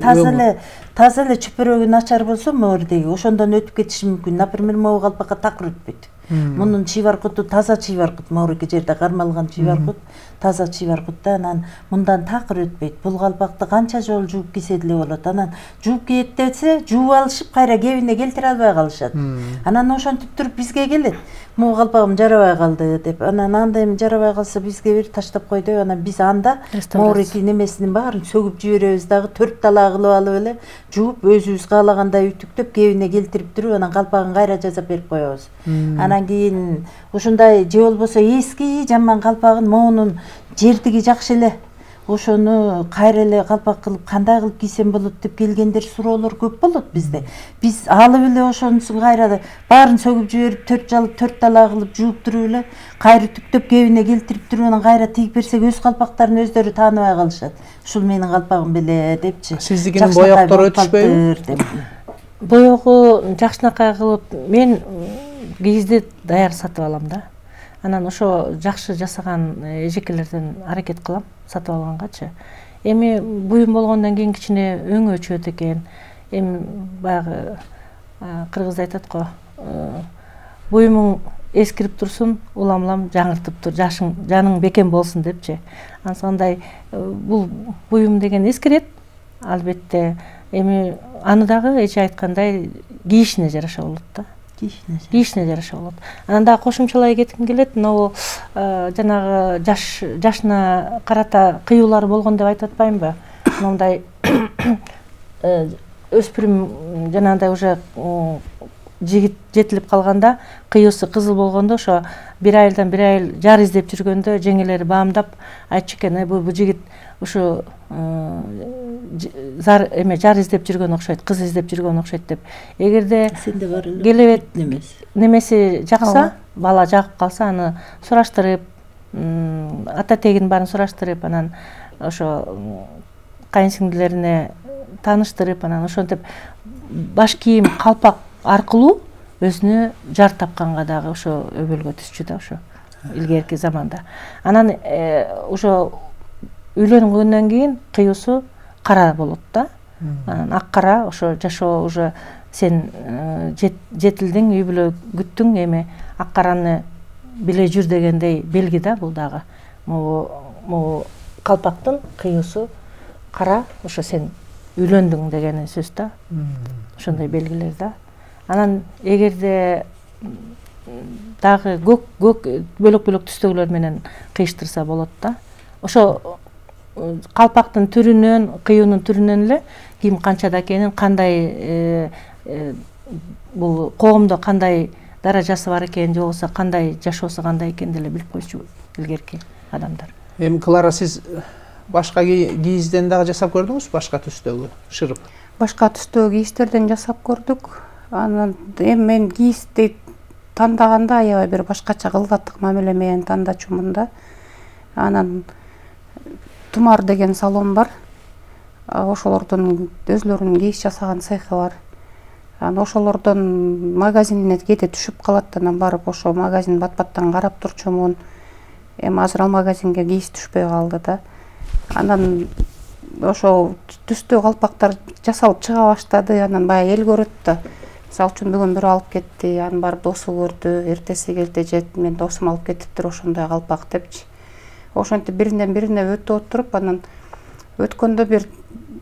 таза эле чөпөрөгү начар болсо моордеги ошондон өтүп кетиши мүмкүн. Например, могу калпакка такыр өтпөйт. Мунун чибаркуту таза чибаркут, моорки жерде кармалган чибаркут, таза чибаркут да, анан мындан такыр өтпөйт. Бул калпакты канча жолу жууп кийсе деле болот. Анан жууп кийет десе, жууп алышып кайра кебине келтире албай калышат. Анан ошентип туруп бизге келет. Могу калпагым жарабай калды деп. Анан анда эми жарабай калса бизге бир таштап кой деп, анан биз анда моорки немесинин баарын сөгүп жиберебиз дагы, 4 талаа кылып алып эле жууп өзүбүз каалагандай үтүктөп кебине келтирип туруп, анан калпагын кайра жасап берип коебуз. Анан кийин ушундай же болбосо эски жаман калпагын моунун жердиги жакшы эле, ошону кайра эле калпак кылып кандай кылып кийсем болот деп келгендер, суроолор көп болот бизде. Биз алып эле ошонусун кайра баарын сөгүп жиберип, 4 талаа кылып жууп туруп эле кайра түктөп кебине келтирип туруп, анан кайра тигип берсек, өз калпактарын өздөрү тааныбай калышат. Ушул менин калпагым беле депчи. Сиздикинин боёктор өтүшпөйбү? Боёгу жакшынакай кылып мен кийизди даяр сатып алам да. Анан ошо жакшы жасаган эжекелерден аракет кылам сатып алгангачы. Эми буюм болгондон кийин кичине өңү өчөт экен. Эми баягы кыргызда айтат го, буюмуң эскирип турсун, улам жаңыртып тур, жаның бекем болсун депчи. Ансандай бул буюм деген эскирет, албетте. Эми аны дагы эже айткандай кийишине жараша болот да. кийишине жараша болот. Анан дагы кошумчалай кетким келет, могу жанагы жашына карата кыюулар болгон деп айтып атпаймынбы? Мындай өспүрүм жанагындай уже жигит жетилип калганда, кыюусу кызыл болгондо, ошо бир айылдан бир айыл жар издеп жүргөндө жеңелери баамдап айтчу экен, бул жигит ушу жар издеп жүргөн окшойт, кыз издеп жүргөн окшойт деп. Эгерде келебет немеси жакса, бала жагып калса, аны сураштырып, ата тегин баарын сураштырып, анан ошо кайынсиңдилерине тааныштырып, анан ошентип баш кийим, калпак аркылуу өзүнө жар тапканга дагы ошо өбөлгө түшчү да, ошо илгерки заманда. Анан ошо үйлөнгөндөн кийин кыюусу кара болот да. Анан ак кара ошо жашоо уже сен жетилдиң, үй бүлө күттүң, эми ак караны биле жүр дегендей белги да бул дагы. Могу калпактын кыюусу кара, ошо сен үйлөндүң деген сөз да. Ошондой белгилер да. Анан эгерде дагы көк бөлөк түстөгүлөр менен кыйыштырса болот да. Ошо калпактын түрүнөн, кыюунун түрүнөн эле ким канчада экенин, кандай бул коомдо кандай даражасы бар экенин, же болбосо кандай жашоосу кандай экенин деле билип койчу илгерки адамдар. Эми Клара, сиз башка кийизден дагы жасап көрдүңүз, башка түстөгү шырып? Башка түстөгү кийиздерден жасап көрдүк. Анан эми мен кийизди тандаганда аябай бир башкача кылгаттык мамиле менен тандачумун да. Анан Тумар деген салон бар. Ошолордун өзлөрүнүн кийиз жасаган цехи бар. Анан ошолордон магазинине кете түшүп калат, анан барып ошо магазин бат-баттан карап турчумун. Эми азыр ал магазинге кийиз түшпөй калды да. Анан ошо түстүү калпактар жасалып чыга баштады. Анан баягы эл көрөт да. Мисалы үчүн бүгүн бирөө алып кетти, анан барып досу көрдү, эртеси келди, жет мен досум алып кетиптир ошондой калпак депчи. Ошентип биринен бирине өтүп отуруп, анан өткөндө бир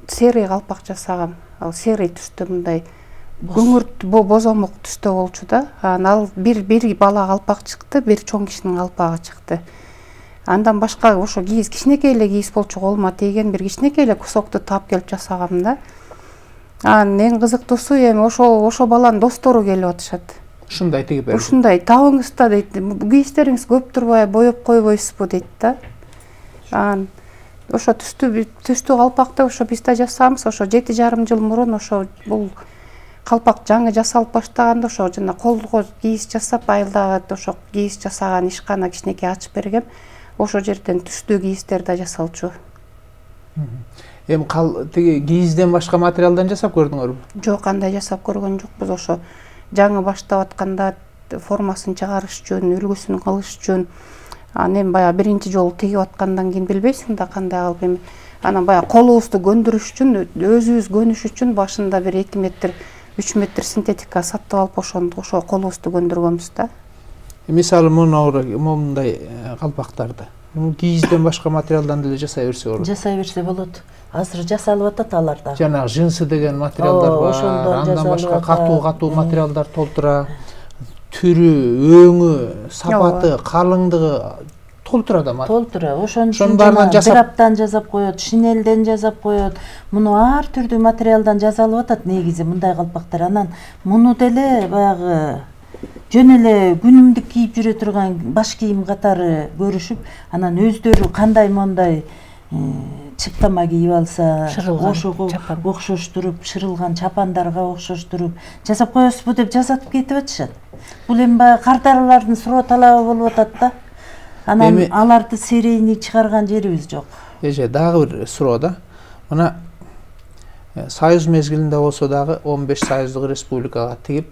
серый калпак жасагам. Ал серый түстө мындай күңүрт бозомок түстө болчу да. Анан ал бир бала калпак чыкты, бир чоң кишинин калпагы чыкты. Андан башка ошо кийиз кичинекей эле кийиз болчу, колума тийген бир кичинекей эле кусокту таап келип жасагам да. Анан эң кызыктуусу эми ошо баланын достору келип атышат. Ушундай тигип берди. Ушундай табыңыз да дейт. Кийиздериңиз көп турбай боеп койбойсузбу дейт да. Анан ошо түстүү калпакты ошо биз да жасабыз. Ошо 7,5 жыл мурун ошо бул калпак жаңы жасалып баштаганда ошо жана колго кийиз жасап, айылдагы ошо кийиз жасаган ишкана кичинекей ачып бергем. Ошо жерден түстүү кийиздер да жасалчу. Эми тиги кийизден башка материалдан жасап көрдүңөрбү? Жок, андай жасап көргөн жокпуз. Ошо жаңы баштап атканда формасын чыгарыш үчүн, үлгүсүн кылыш үчүн, анан эми баягы биринчи жолу тигип аткандан кийин билбейсиң да кандай кылып эми. Анан баягы колубузду көндүрүш үчүн, өзүбүз көнүш үчүн башында бир 2 метр, 3 метр синтетика сатып алып ошо колубузду көндүргөнбүз да. Мисалы мындай калпактарды кийизден башка материалдан деле жасай берсе болот. Жасай берсе болот. Азыр жасалып атат аларда. Жанагы жинсы деген материалдар бар. Андан башка катуу материалдар толтура. Түрү, өңү, сапаты, калыңдыгы толтура да материал. Толтура. Ошон драпдан жасап коет, шинелден жасап коет. Муну ар түрдүү материалдан жасалып атат негизи мындай калпактар. Анан муну деле баягы жөн эле күнүмдүк кийип жүрө турган баш кийим катары көрүшүп, анан өздөрү кандай мондай чыптама кийип алса, ошого окшоштуруп, шырылган чапандарга окшоштуруп жасап коесузбу деп жасатып кетип атышат. Бул эми баягы кардарлардын суроо талабы болуп атат да. Анан аларды серийни чыгарган жерибиз жок. Дагы бир суроо да. Мына Союз мезгилинде болсо дагы 15 союздук республикага тигип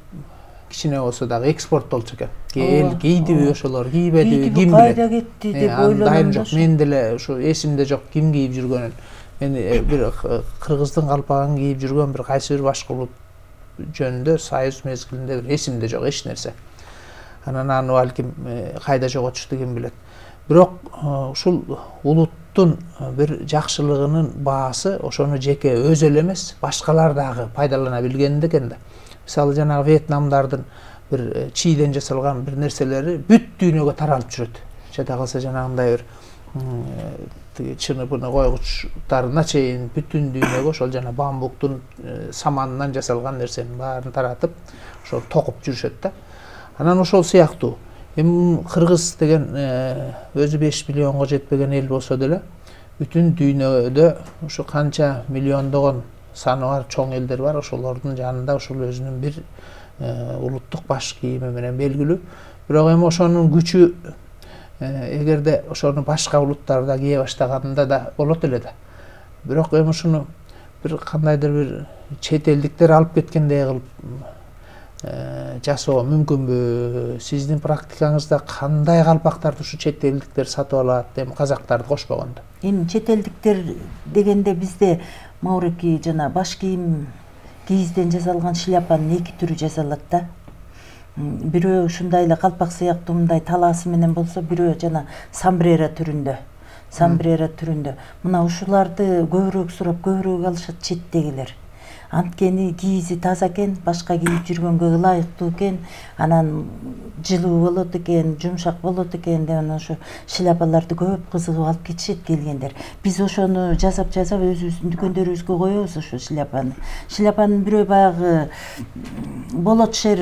кичине болсо дагы экспорттолчу экен. Эл кийдиби ошолор, кийбедиби, ким билет. Кайда кетти деп ойлоном жок. Мен деле ушу эсимде жок ким кийип жүргөнүн. Мен бир кыргыздын калпагын кийип жүргөн бир кайсы бир башка улут жөнүндө Союз мезгилинде бир эсимде жок эч нерсе. Анан аны балким кайда жоготушту ким билет. Бирок ушул улуттун бир жакшылыгынын баасы ошону жеке өзү эле эмес, башкалар дагы пайдалана билгенде экен да. Мисалы жанагы Вьетнамдардын бир чийден жасалган бир нерселери бүт дүйнөгө таралып жүрөт. Жада калса жанагындай бир чыныпыны койгучтарына чейин бүтүн дүйнөгө ошол жана бамбуктун саманынан жасалган нерсенин баарын таратып ошол токуп жүрүшөт да. Анан ошол сыяктуу эми кыргыз деген өзү 5 миллионго жетпеген эл болсо деле бүтүн дүйнөдө ошо канча миллиондогон саны бар чоң элдер бар. Ошолордун жанында ошол өзүнүн бир улуттук баш кийими менен белгилүү. Бирок эми ошонун күчү эгерде ошону башка улуттар да кие баштаганында да болот эле да. Бирок эми ушуну бир кандайдыр бир чет элдиктер алып кеткендей кылып жасоо мүмкүнбү? Сиздин практикаңызда кандай калпактарды ушу чет элдиктер сатып алат, эми казактарды кошпогондо? Эми чет элдиктер дегенде бизде Мауреки жана баш кийим кийизден жасалган шляпанын 2 түрү жасалат да. Бирөө ушундай эле калпак сыяктуу мындай талаасы менен болсо, бирөө жана самбрера түрүндө. Мына ушуларды көбүрөөк сурап, көбүрөөк алышат четтегилер. Анткени кийизи таза экен, башка кийип жүргөнгө ылайыктуу экен, анан жылуу болот экен, жумшак болот экен деп анан ошо шляпаларды көп кызыгып алып кетишет келгендер. Биз ошону жасап өзүбүздүн дүкөндөрүбүзгө коебуз ошо шляпаны. Шляпанын бирөө баягы болот шер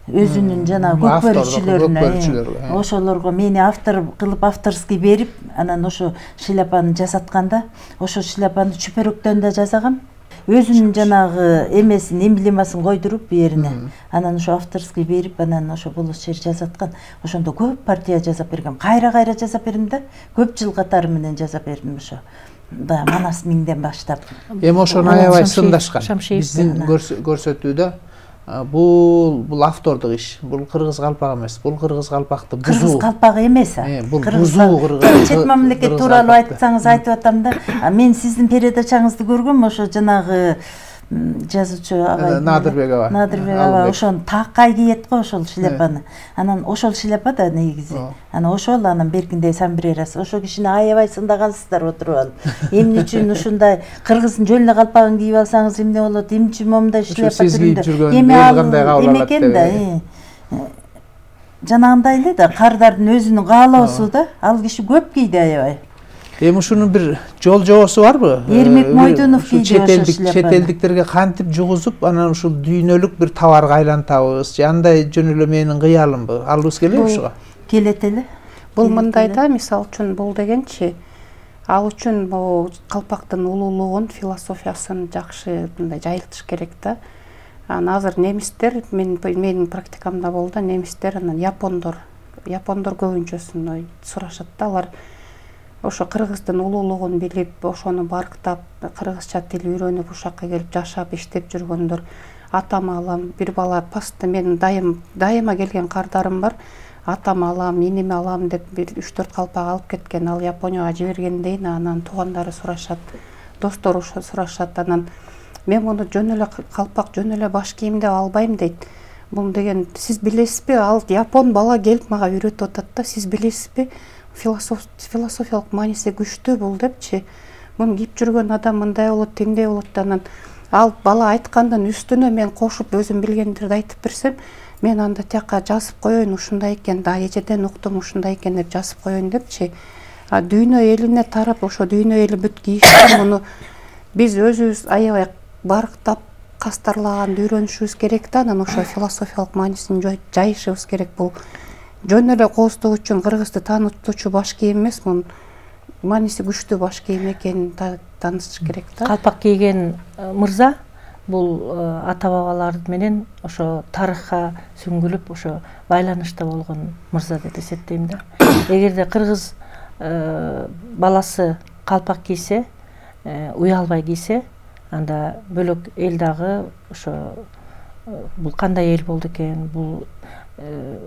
өзүнүн жана көкбөрүчүлөрүнө ошолорго мени автор кылып авторский берип, анан ошо шляпаны жасатканда, ошо шляпаны чүпөрөктөн да жасагам. Өзүнүн жанагы эмесин, эмблемасын койдуруп берине. Анан ошо авторский берип, анан ошо болот шер жасаткан. Ошондо көп партия жасап бергем. Кайра жасап бердим да. Көп жыл катары менен жасап бердим ошо. Да, Манас миңден баштап. Эми ошону аябай сындашкан. Биздин көрсөтүүдө бул автордук иш. Бул кыргыз калпак эмес. Бул кыргыз калпакты бузуу. Кыргыз калпагы эмес. Бул бузуу кыргыз. Чет мамлекет тууралуу айтсаңыз айтып атам да. Мен сиздин передачаңызды көргөм, ошо жанагы жазуучу агай Надырбек аба ошону таккай кийет го ошол шляпаны. Анан ошол шляпа да негизи. Анан ошол анан беркиндей самбрерасы. Ошол кишини аябай сындагансыздар отуруп алып. Эмне үчүн ушундай кыргыздын жөн эле калпагын кийип алсаңыз эмне болот? Эмне үчүн момундай шляпа түрүндө? Эми ал экен да. Жанагындай эле да, кардардын өзүнүн каалоосу да. Ал киши көп кийди аябай. Эми ушунун бир жол жобосу барбы? Эрмек Мойдунов кийди ошол шляпаны. Чет элдиктерге кантип жугузуп, анан ушул дүйнөлүк бир товарга айлантабыз, же андай жөн эле менин кыялымбы? Алыбыз келеби ушуга? Келет эле. Бул мындай да, мисалы үчүн бул дегенчи, ал үчүн бул калпактын улуулугун, философиясын жакшы мындай жайылтыш керек да. Анан азыр немистер, менин практикамда болду, немистер анан япондор көбүнчөсүн сурашат да, алар ошо кыргыздын улуулугун билип, ошону барктап, кыргызча тил үйрөнүп, ушакка келип жашап, иштеп жүргөндөр. Атам алам, бир бала пасты менин дайыма келген кардарым бар. Атам алам, инеме алам деп бир 3-4 калпак алып кеткен. Ал Японияга жибергендейин, анан туугандары сурашат, достору сурашат. Анан мен муну жөн эле калпак, жөн эле баш кийим деп албайм дейт. Бул деген сиз билесизби? Ал япон бала келип мага үйрөтүп атат да, сиз билесизби? Философиялык мааниси күчтүү бул депчи. Муну кийип жүргөн адам мындай болот, теңдей болот. Анан ал бала айткандын үстүнө мен кошуп өзүм билгендерди айтып берсем, мен анда тияка жазып коеюн, ушундай экен да, эжеден уктум, ушундай экен деп жазып коеюн депчи. Дүйнө элине тарап, ошо дүйнө эли бүт кийишти, муну биз өзүбүз аябай барктап, кастарлаганды үйрөнүшүбүз керек да, анан ошо философиялык маанисин жайышыбыз керек. Бул жөн эле кооздук үчүн кыргызды таанытуучу баш кийим эмес, мунун мааниси күчтүү баш кийим экенин таанытыш керек да. Калпак кийген мырза бул ата бабалар менен ошо тарыхка сүңгүлүп, ошо байланышта болгон мырза деп эсептейм да. Эгерде кыргыз баласы калпак кийсе, уялбай кийсе, анда бөлөк эл дагы ошо бул кандай эл болду экен, бул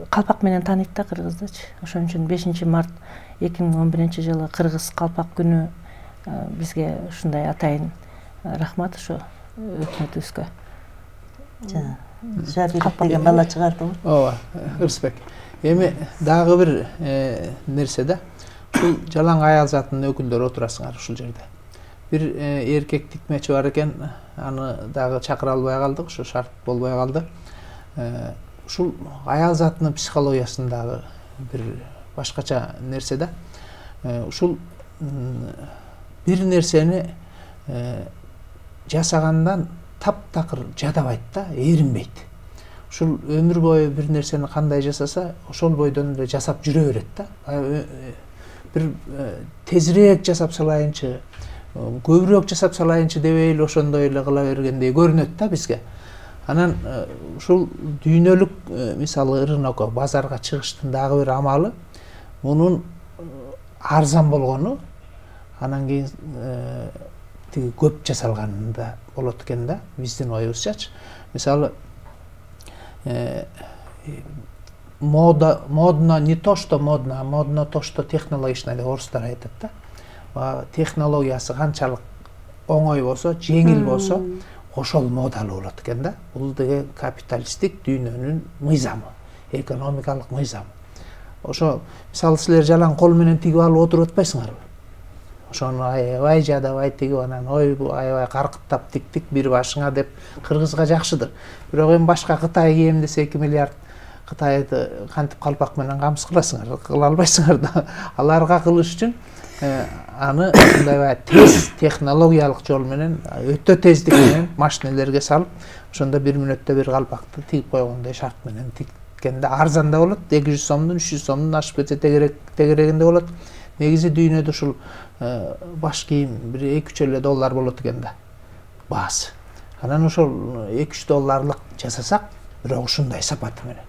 калпак менен тааныйт да кыргыздычы. Ошон үчүн 5 март 2011-жылы кыргыз калпак күнү бизге ушундай атайын рахмат ошо өкмөтүбүзгө. Жабир деген бала чыгарды го. Ооба, Ырысбек. Эми дагы бир нерсе да. Бул жалаң аял затынын өкүлдөрү отурасыңар ушул жерде. Бир эркек тикмечи бар экен, аны дагы чакыра албай калдык, ошо шарт болбой калды. ушул аял затынын психологиясындагы бир башкача нерсе да. Ушул бир нерсени жасагандан таптакыр жадабайт да, эринбейт. Ушул өмүр бою бир нерсени кандай жасаса, ошол бойдон эле жасап жүрө берет да. Бир тезирээк жасап салайынчы, көбүрөөк жасап салайынчы дебей эле ошондой эле кыла бергендей көрүнөт да бизге. Анан ушул дүйнөлүк мисалы рынокко, базарга чыгыштын дагы бир амалы мунун арзан болгону, анан кийин тиги көп жасалганында болот экен да, биздин оюбузчачы. Мисалы модно не то что модно, а модно то что технологично деп орустар айтат да. Технологиясы канчалык оңой болсо, жеңил болсо, ошол модалуу болот экен да. Бул деген капиталисттик дүйнөнүн мыйзамы, экономикалык мыйзамы. Ошо мисалы силер жалаң кол менен тигип алып отуруп атпайсыңарбы? Ошону аябай жадабай тигип, анан ой бул аябай каркыттап тиктик бир башыңа деп кыргызга жакшыдыр. Бирок эми башка Кытай кийем десе 2 миллиард Кытайды кантип калпак менен камсыз кыласыңар, кыла албайсыңар да. Аларга кылыш үчүн аны мындай тез технологиялык жол менен, өтө тездик менен машинелерге салып, ошондо 1 мүнөттө бир калпакты тигип койгондой шарт менен тиккенде арзан да болот, 200 сомдун, 300 сомдун ашып кетсе тегерегинде болот. Негизи дүйнөдө ушул баш кийим бир 2-3 эле доллар болот экен да баасы. Анан ошол 2-3 долларлык жасасак, бирок ушундай сапаты менен.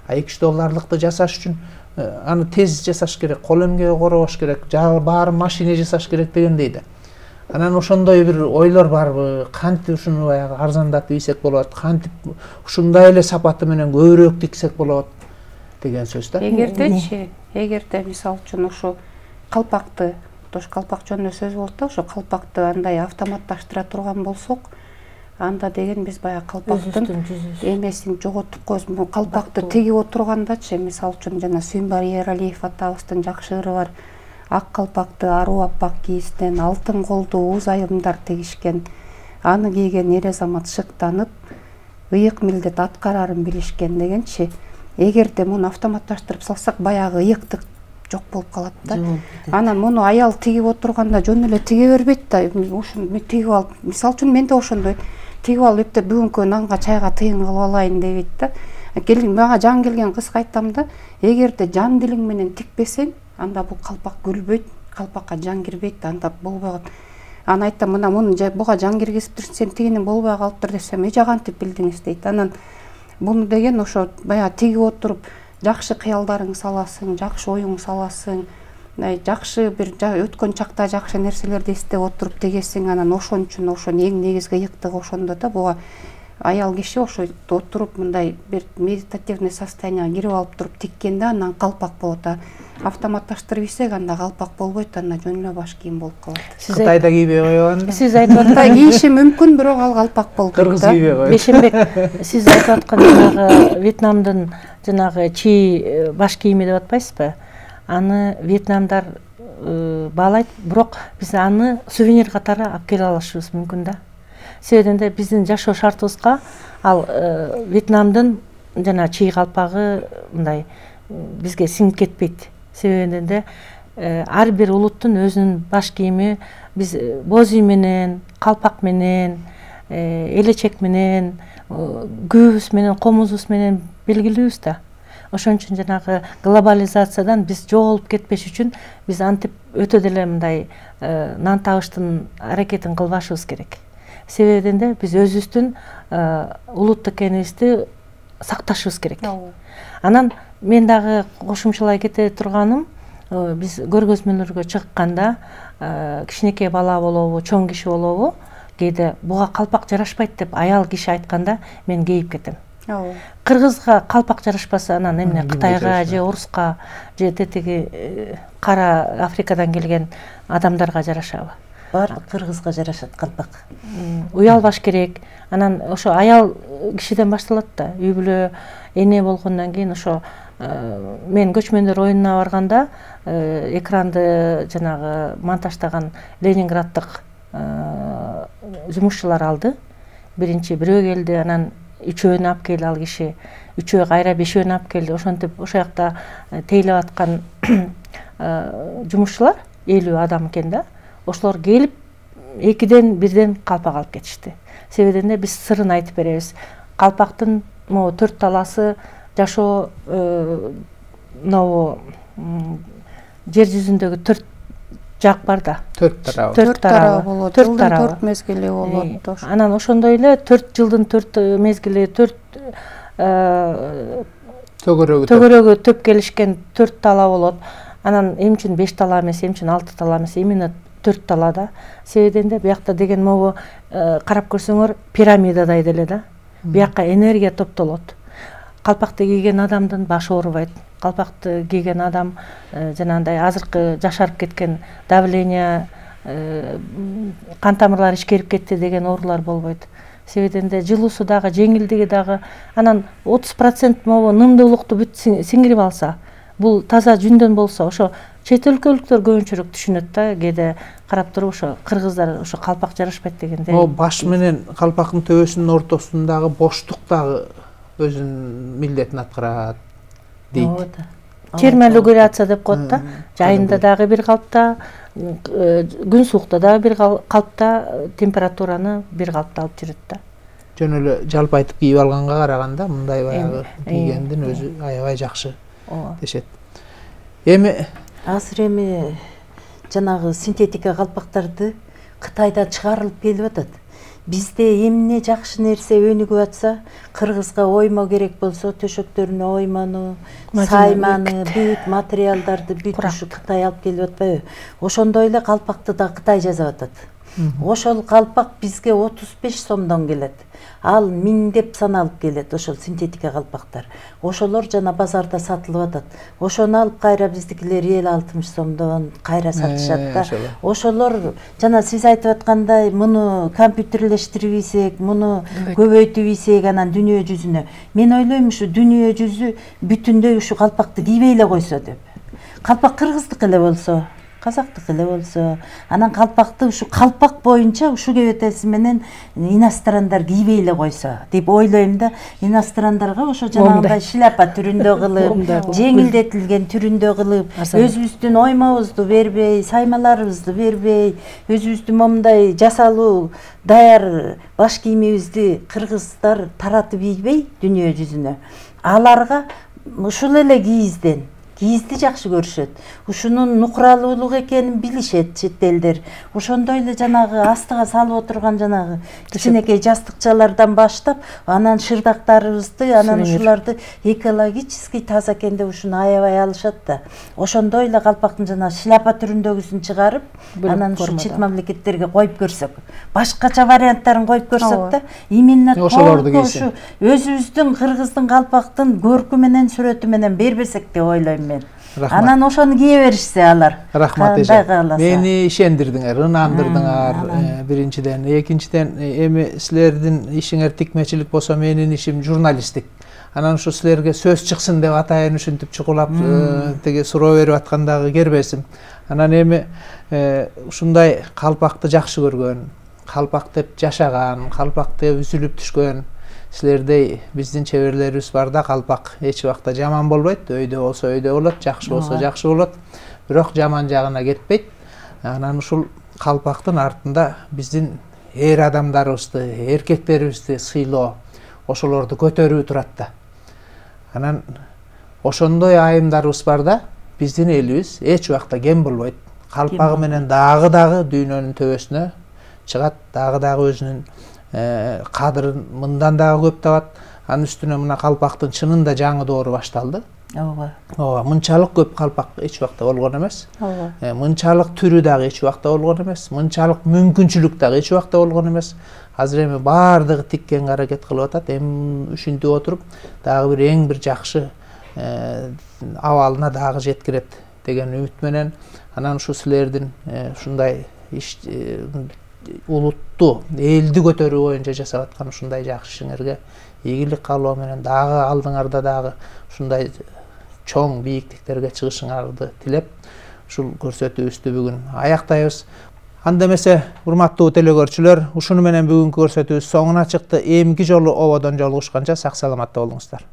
2-3 долларлыкты жасаш үчүн аны тез жасаш керек, кол эмгеги коробош керек, баары машине жасаш керек дегендей да. Анан ошондой бир ойлор барбы? Кантип ушуну баягы арзандатып ийсек болот, кантип ушундай эле сапаты менен көбүрөөк тиксек болот деген сөз да. Эгерде мисалы үчүн ушу калпакты, тош калпак жөнүндө сөз болот да, ошо калпакты андай автоматташтыра турган болсок, анда деген биз баягы калпактын эмесин жоготуп коебуз. Калпакты тигип отургандачы, мисалы үчүн жана Сүйүнбай Эралиев атабыздын жакшы ыры бар. Ак калпакты аруу аппак кийизден, алтын колдуу уз айымдар тигишкен. Аны кийген эр азамат шыктанып, ыйык милдет аткарарын билишкен дегенчи. Эгерде муну автоматташтырып салсак, баягы ыйыктык жок болуп калат да. Анан муну аял тигип отурганда жөн эле тиге бербейт да. Ушуну тигип алып, мисалы үчүн мен да ошондой тигип алып эптеп бүгүнкү нанга чайга тыйын кылып алайын дебейт да. Мага жан келген кызга айтам да, эгерде жан дилиң менен тикпесең, анда бул калпак күлбөйт, калпакка жан кирбейт, анда болбойт. Аны айтам, мына муну буга жан киргизиптир, сен тигини болбой калыптыр десем, эже кантип билдиңиз дейт. Анан буну деген ошо баягы тигип отуруп, жакшы кыялдарың саласың, жакшы оюң саласың, жакшы бир өткөн чакта жакшы нерселерди эстеп отуруп тигесиң, анан ошон үчүн ошо эң негизги ыйыктыгы ошондо да. Буга аял киши ошо отуруп мындай бир медитативный состоянияга кирип алып туруп тиккенде анан калпак болот. Автоматташтырып ийсек, анда калпак болбойт, анда жөн эле баш кийим болуп калат. Кытайда кийбей койгон. Сиз айтып аткан кийиши мүмкүн, бирок ал калпак болуп калат. Кыргыз кийбей койот. Бешенбек, сиз айтып аткан жанагы Вьетнамдын жанагы чи баш кийими деп атпайсызбы? Аны вьетнамдар баалайт, бирок биз аны сувенир катары алып келе алышыбыз мүмкүн да. Себебинде да биздин жашоо шартыбызга ал Вьетнамдын жана чи калпагы мындай бизге сиңип кетпейт. Себебинде да ар бир улуттун өзүнүн баш кийими, биз боз үй менен, калпак менен, элечек менен, күбүбүз менен, комузубуз менен белгилүүбүз да. Ошон үчүн жанагы глобализациядан биз жоголуп кетпеш үчүн биз антип өтө деле мындай нан табыштын аракетин кылбашыбыз керек. Себебинде да биз өзүбүздүн улуттук экенибизди сакташыбыз керек. Анан мен дагы кошумчалай кете турганым, биз көргөзмөлөргө чыкканда кичинекей бала болобу, чоң киши болобу, кээде буга калпак жарашпайт деп аял киши айтканда мен кейип кетем. Кыргызга калпак жарашпаса, анан эмне Кытайга же Оруска же тетиги кара Африкадан келген адамдарга жарашабы? Баардык кыргызга жарашат калпак. Уялбаш керек. Анан ошо аял кишиден башталат да. Үй бүлө эне болгондон кийин ошо мен көчмөндөр оюнуна барганда экранды жанагы монтаждаган Ленинграддык жумушчулар алды. Биринчи бирөө келди, анан үчөөнү алып келди ал киши, үчөө кайра бешөөнү алып келди. Ошентип ошол жакта тейлеп аткан жумушчулар 50 адам экен да. Ошолор келип 2-ден 1-ден калпак алып кетишти. Себебинде биз сырын айтып беребиз. Калпактын могу 4 таласы жашоо жер жүзүндөгү 4 жак бар да. 4 тарабы. 4 тарабы болот. 4 мезгили болот. Анан ошондой эле 4 жылдын 4 мезгили, 4 төгөрөгү төп келишкен 4 тала болот. Анан эмне үчүн 5 тала эмес, эмне үчүн 6 тала эмес, именно 4 талада. Себебинде биякта деген могу карап көрсөңөр пирамидадай деле да. Биякка энергия топтолот. Калпакты кийген адамдын башы оорубайт. Калпакты кийген адам жанагындай азыркы жашарып кеткен давление, кан тамырлары ишкерип кетти деген оорулар болбойт. Себебинде жылуусу дагы, жеңилдиги дагы, анан 30% могу нымдуулукту бүт сиңирип алса, бул таза жүндөн болсо, ошо чет өлкөлүктөр көбүнчөрөөк түшүнөт да, кээде карап туруп ошо кыргыздар ошо калпак жарашпайт дегенде. О баш менен калпактын төбөсүнүн ортосундагы боштук дагы өзүнүн милдетин аткарат дейт. Терморегуляция деп коет да. Жайында дагы бир калпта, күн суукта дагы бир калпта, температураны бир калпта алып жүрөт да. Жөн эле жалпы айтып кийип алганга караганда мындай баягы кийгендин өзү аябай жакшы дешет. Эми азыр жанагы синтетика калпактарды Кытайдан чыгарылып келип атат. Бизде эмне жакшы нерсе өнүгүп атса, кыргызга оймо керек болсо, төшөктөрүнө оймону, сайманы, бүт материалдарды бүт ушу Кытай алып келип атпайбы? Ошондой эле калпакты да Кытай жасап атат. Ошол калпак бизге 35 сомдон келет. Ал миңдеп саналып келет ошол синтетика калпактар. Ошолор жана базарда сатылып атат. Ошону алып кайра биздикилер 50-60 сомдон кайра сатышат да. Ошолор жана сиз айтып аткандай, муну компьютерлештирип ийсек, муну көбөйтүп ийсек анан дүйнө жүзүнө. Мен ойлойм ушу дүйнө жүзү бүтүндөй ушу калпакты кийбей эле койсо деп. Калпак кыргыздык эле болсо, казактык эле болсо, анан калпакты ушу калпак боюнча ушу кебетеси менен инострандар кийбей эле койсо деп ойлойм да. Инострандарга ошо жанагындай шляпа түрүндө кылып, жеңилдетилген түрүндө кылып, өзүбүздүн оймобузду бербей, саймаларыбызды бербей, өзүбүздүн момундай жасалуу даяр баш кийимибизди кыргыздар таратып ийбей дүйнө жүзүнө. Аларга ушул эле кийизди жакшы көрүшөт. Ушунун нукуралуулук экенин билишет чет элдер. Ошондой эле жанагы астыга салып отурган жанагы кичинекей жастыкчалардан баштап, анан шырдактарыбызды, анан ушуларды экологический таза экен деп ушуну аябай алышат да. Ошондой эле калпактын жана шляпа түрүндөгүсүн чыгарып, анан ушу чет мамлекеттерге коюп көрсөк, башкача варианттарын коюп көрсөк да, именно ушу өзүбүздүн кыргыздын калпактын көркү менен, сүрөтү менен бербесек деп ойлойм. Анан ошону кие беришсе алар. Рахмат эже. Мени ишендирдиңер, ынандырдыңар. Биринчиден, экинчиден, эми силердин ишиңер тикмечилик болсо, менин ишим журналисттик. Анан ушу силерге сөз чыксын деп атайын ушинтип чукулап теге суроо берип аткандагы кербесим. Анан эми ушундай калпакты жакшы көргөн, калпак деп жашаган, калпакты үзүлүп түшкөн силердей биздин чеберлерибиз бар да. Калпак эч убакта жаман болбойт, өйдө болсо өйдө болот, жакшы болсо жакшы болот, бирок жаман жагына кетпейт. Анан ушул калпактын артында биздин эр адамдарыбызды, эркектерибизди сыйлоо, ошолорду көтөрүү турат да. Анан ошондой айымдарыбыз бар да, биздин элибиз эч убакта кем болбойт. Калпагы менен дагы дүйнөнүн төбөсүнө чыгат, дагы өзүнүн кадырын мындан дагы көп табат. Анын үстүнө мына калпактын чынында жаңы доору башталды. Ооба, мынчалык көп калпак эч убакта болгон эмес. Мынчалык түрү дагы эч убакта болгон эмес. Мынчалык мүмкүнчүлүк дагы эч убакта болгон эмес. Азыр эми баардыгы тиккенге аракет кылып атат. Эми ушинтип отуруп, дагы бир эң бир жакшы абалына дагы жеткирет деген үмүт менен, анан ушу силердин ушундай улутту, элди көтөрүү боюнча жасап аткан ушундай жакшы ишиңерге ийгилик каалоо менен дагы алдыңарда дагы ушундай чоң бийиктиктерге чыгышыңарды тилеп, ушул көрсөтүүбүздү бүгүн аяктайбыз. Анда эмесе, урматтуу телекөрүүчүлөр, ушуну менен бүгүнкү көрсөтүүбүз соңуна чыкты. Эмки жолу ободон жолугушканча сак саламатта болуңуздар.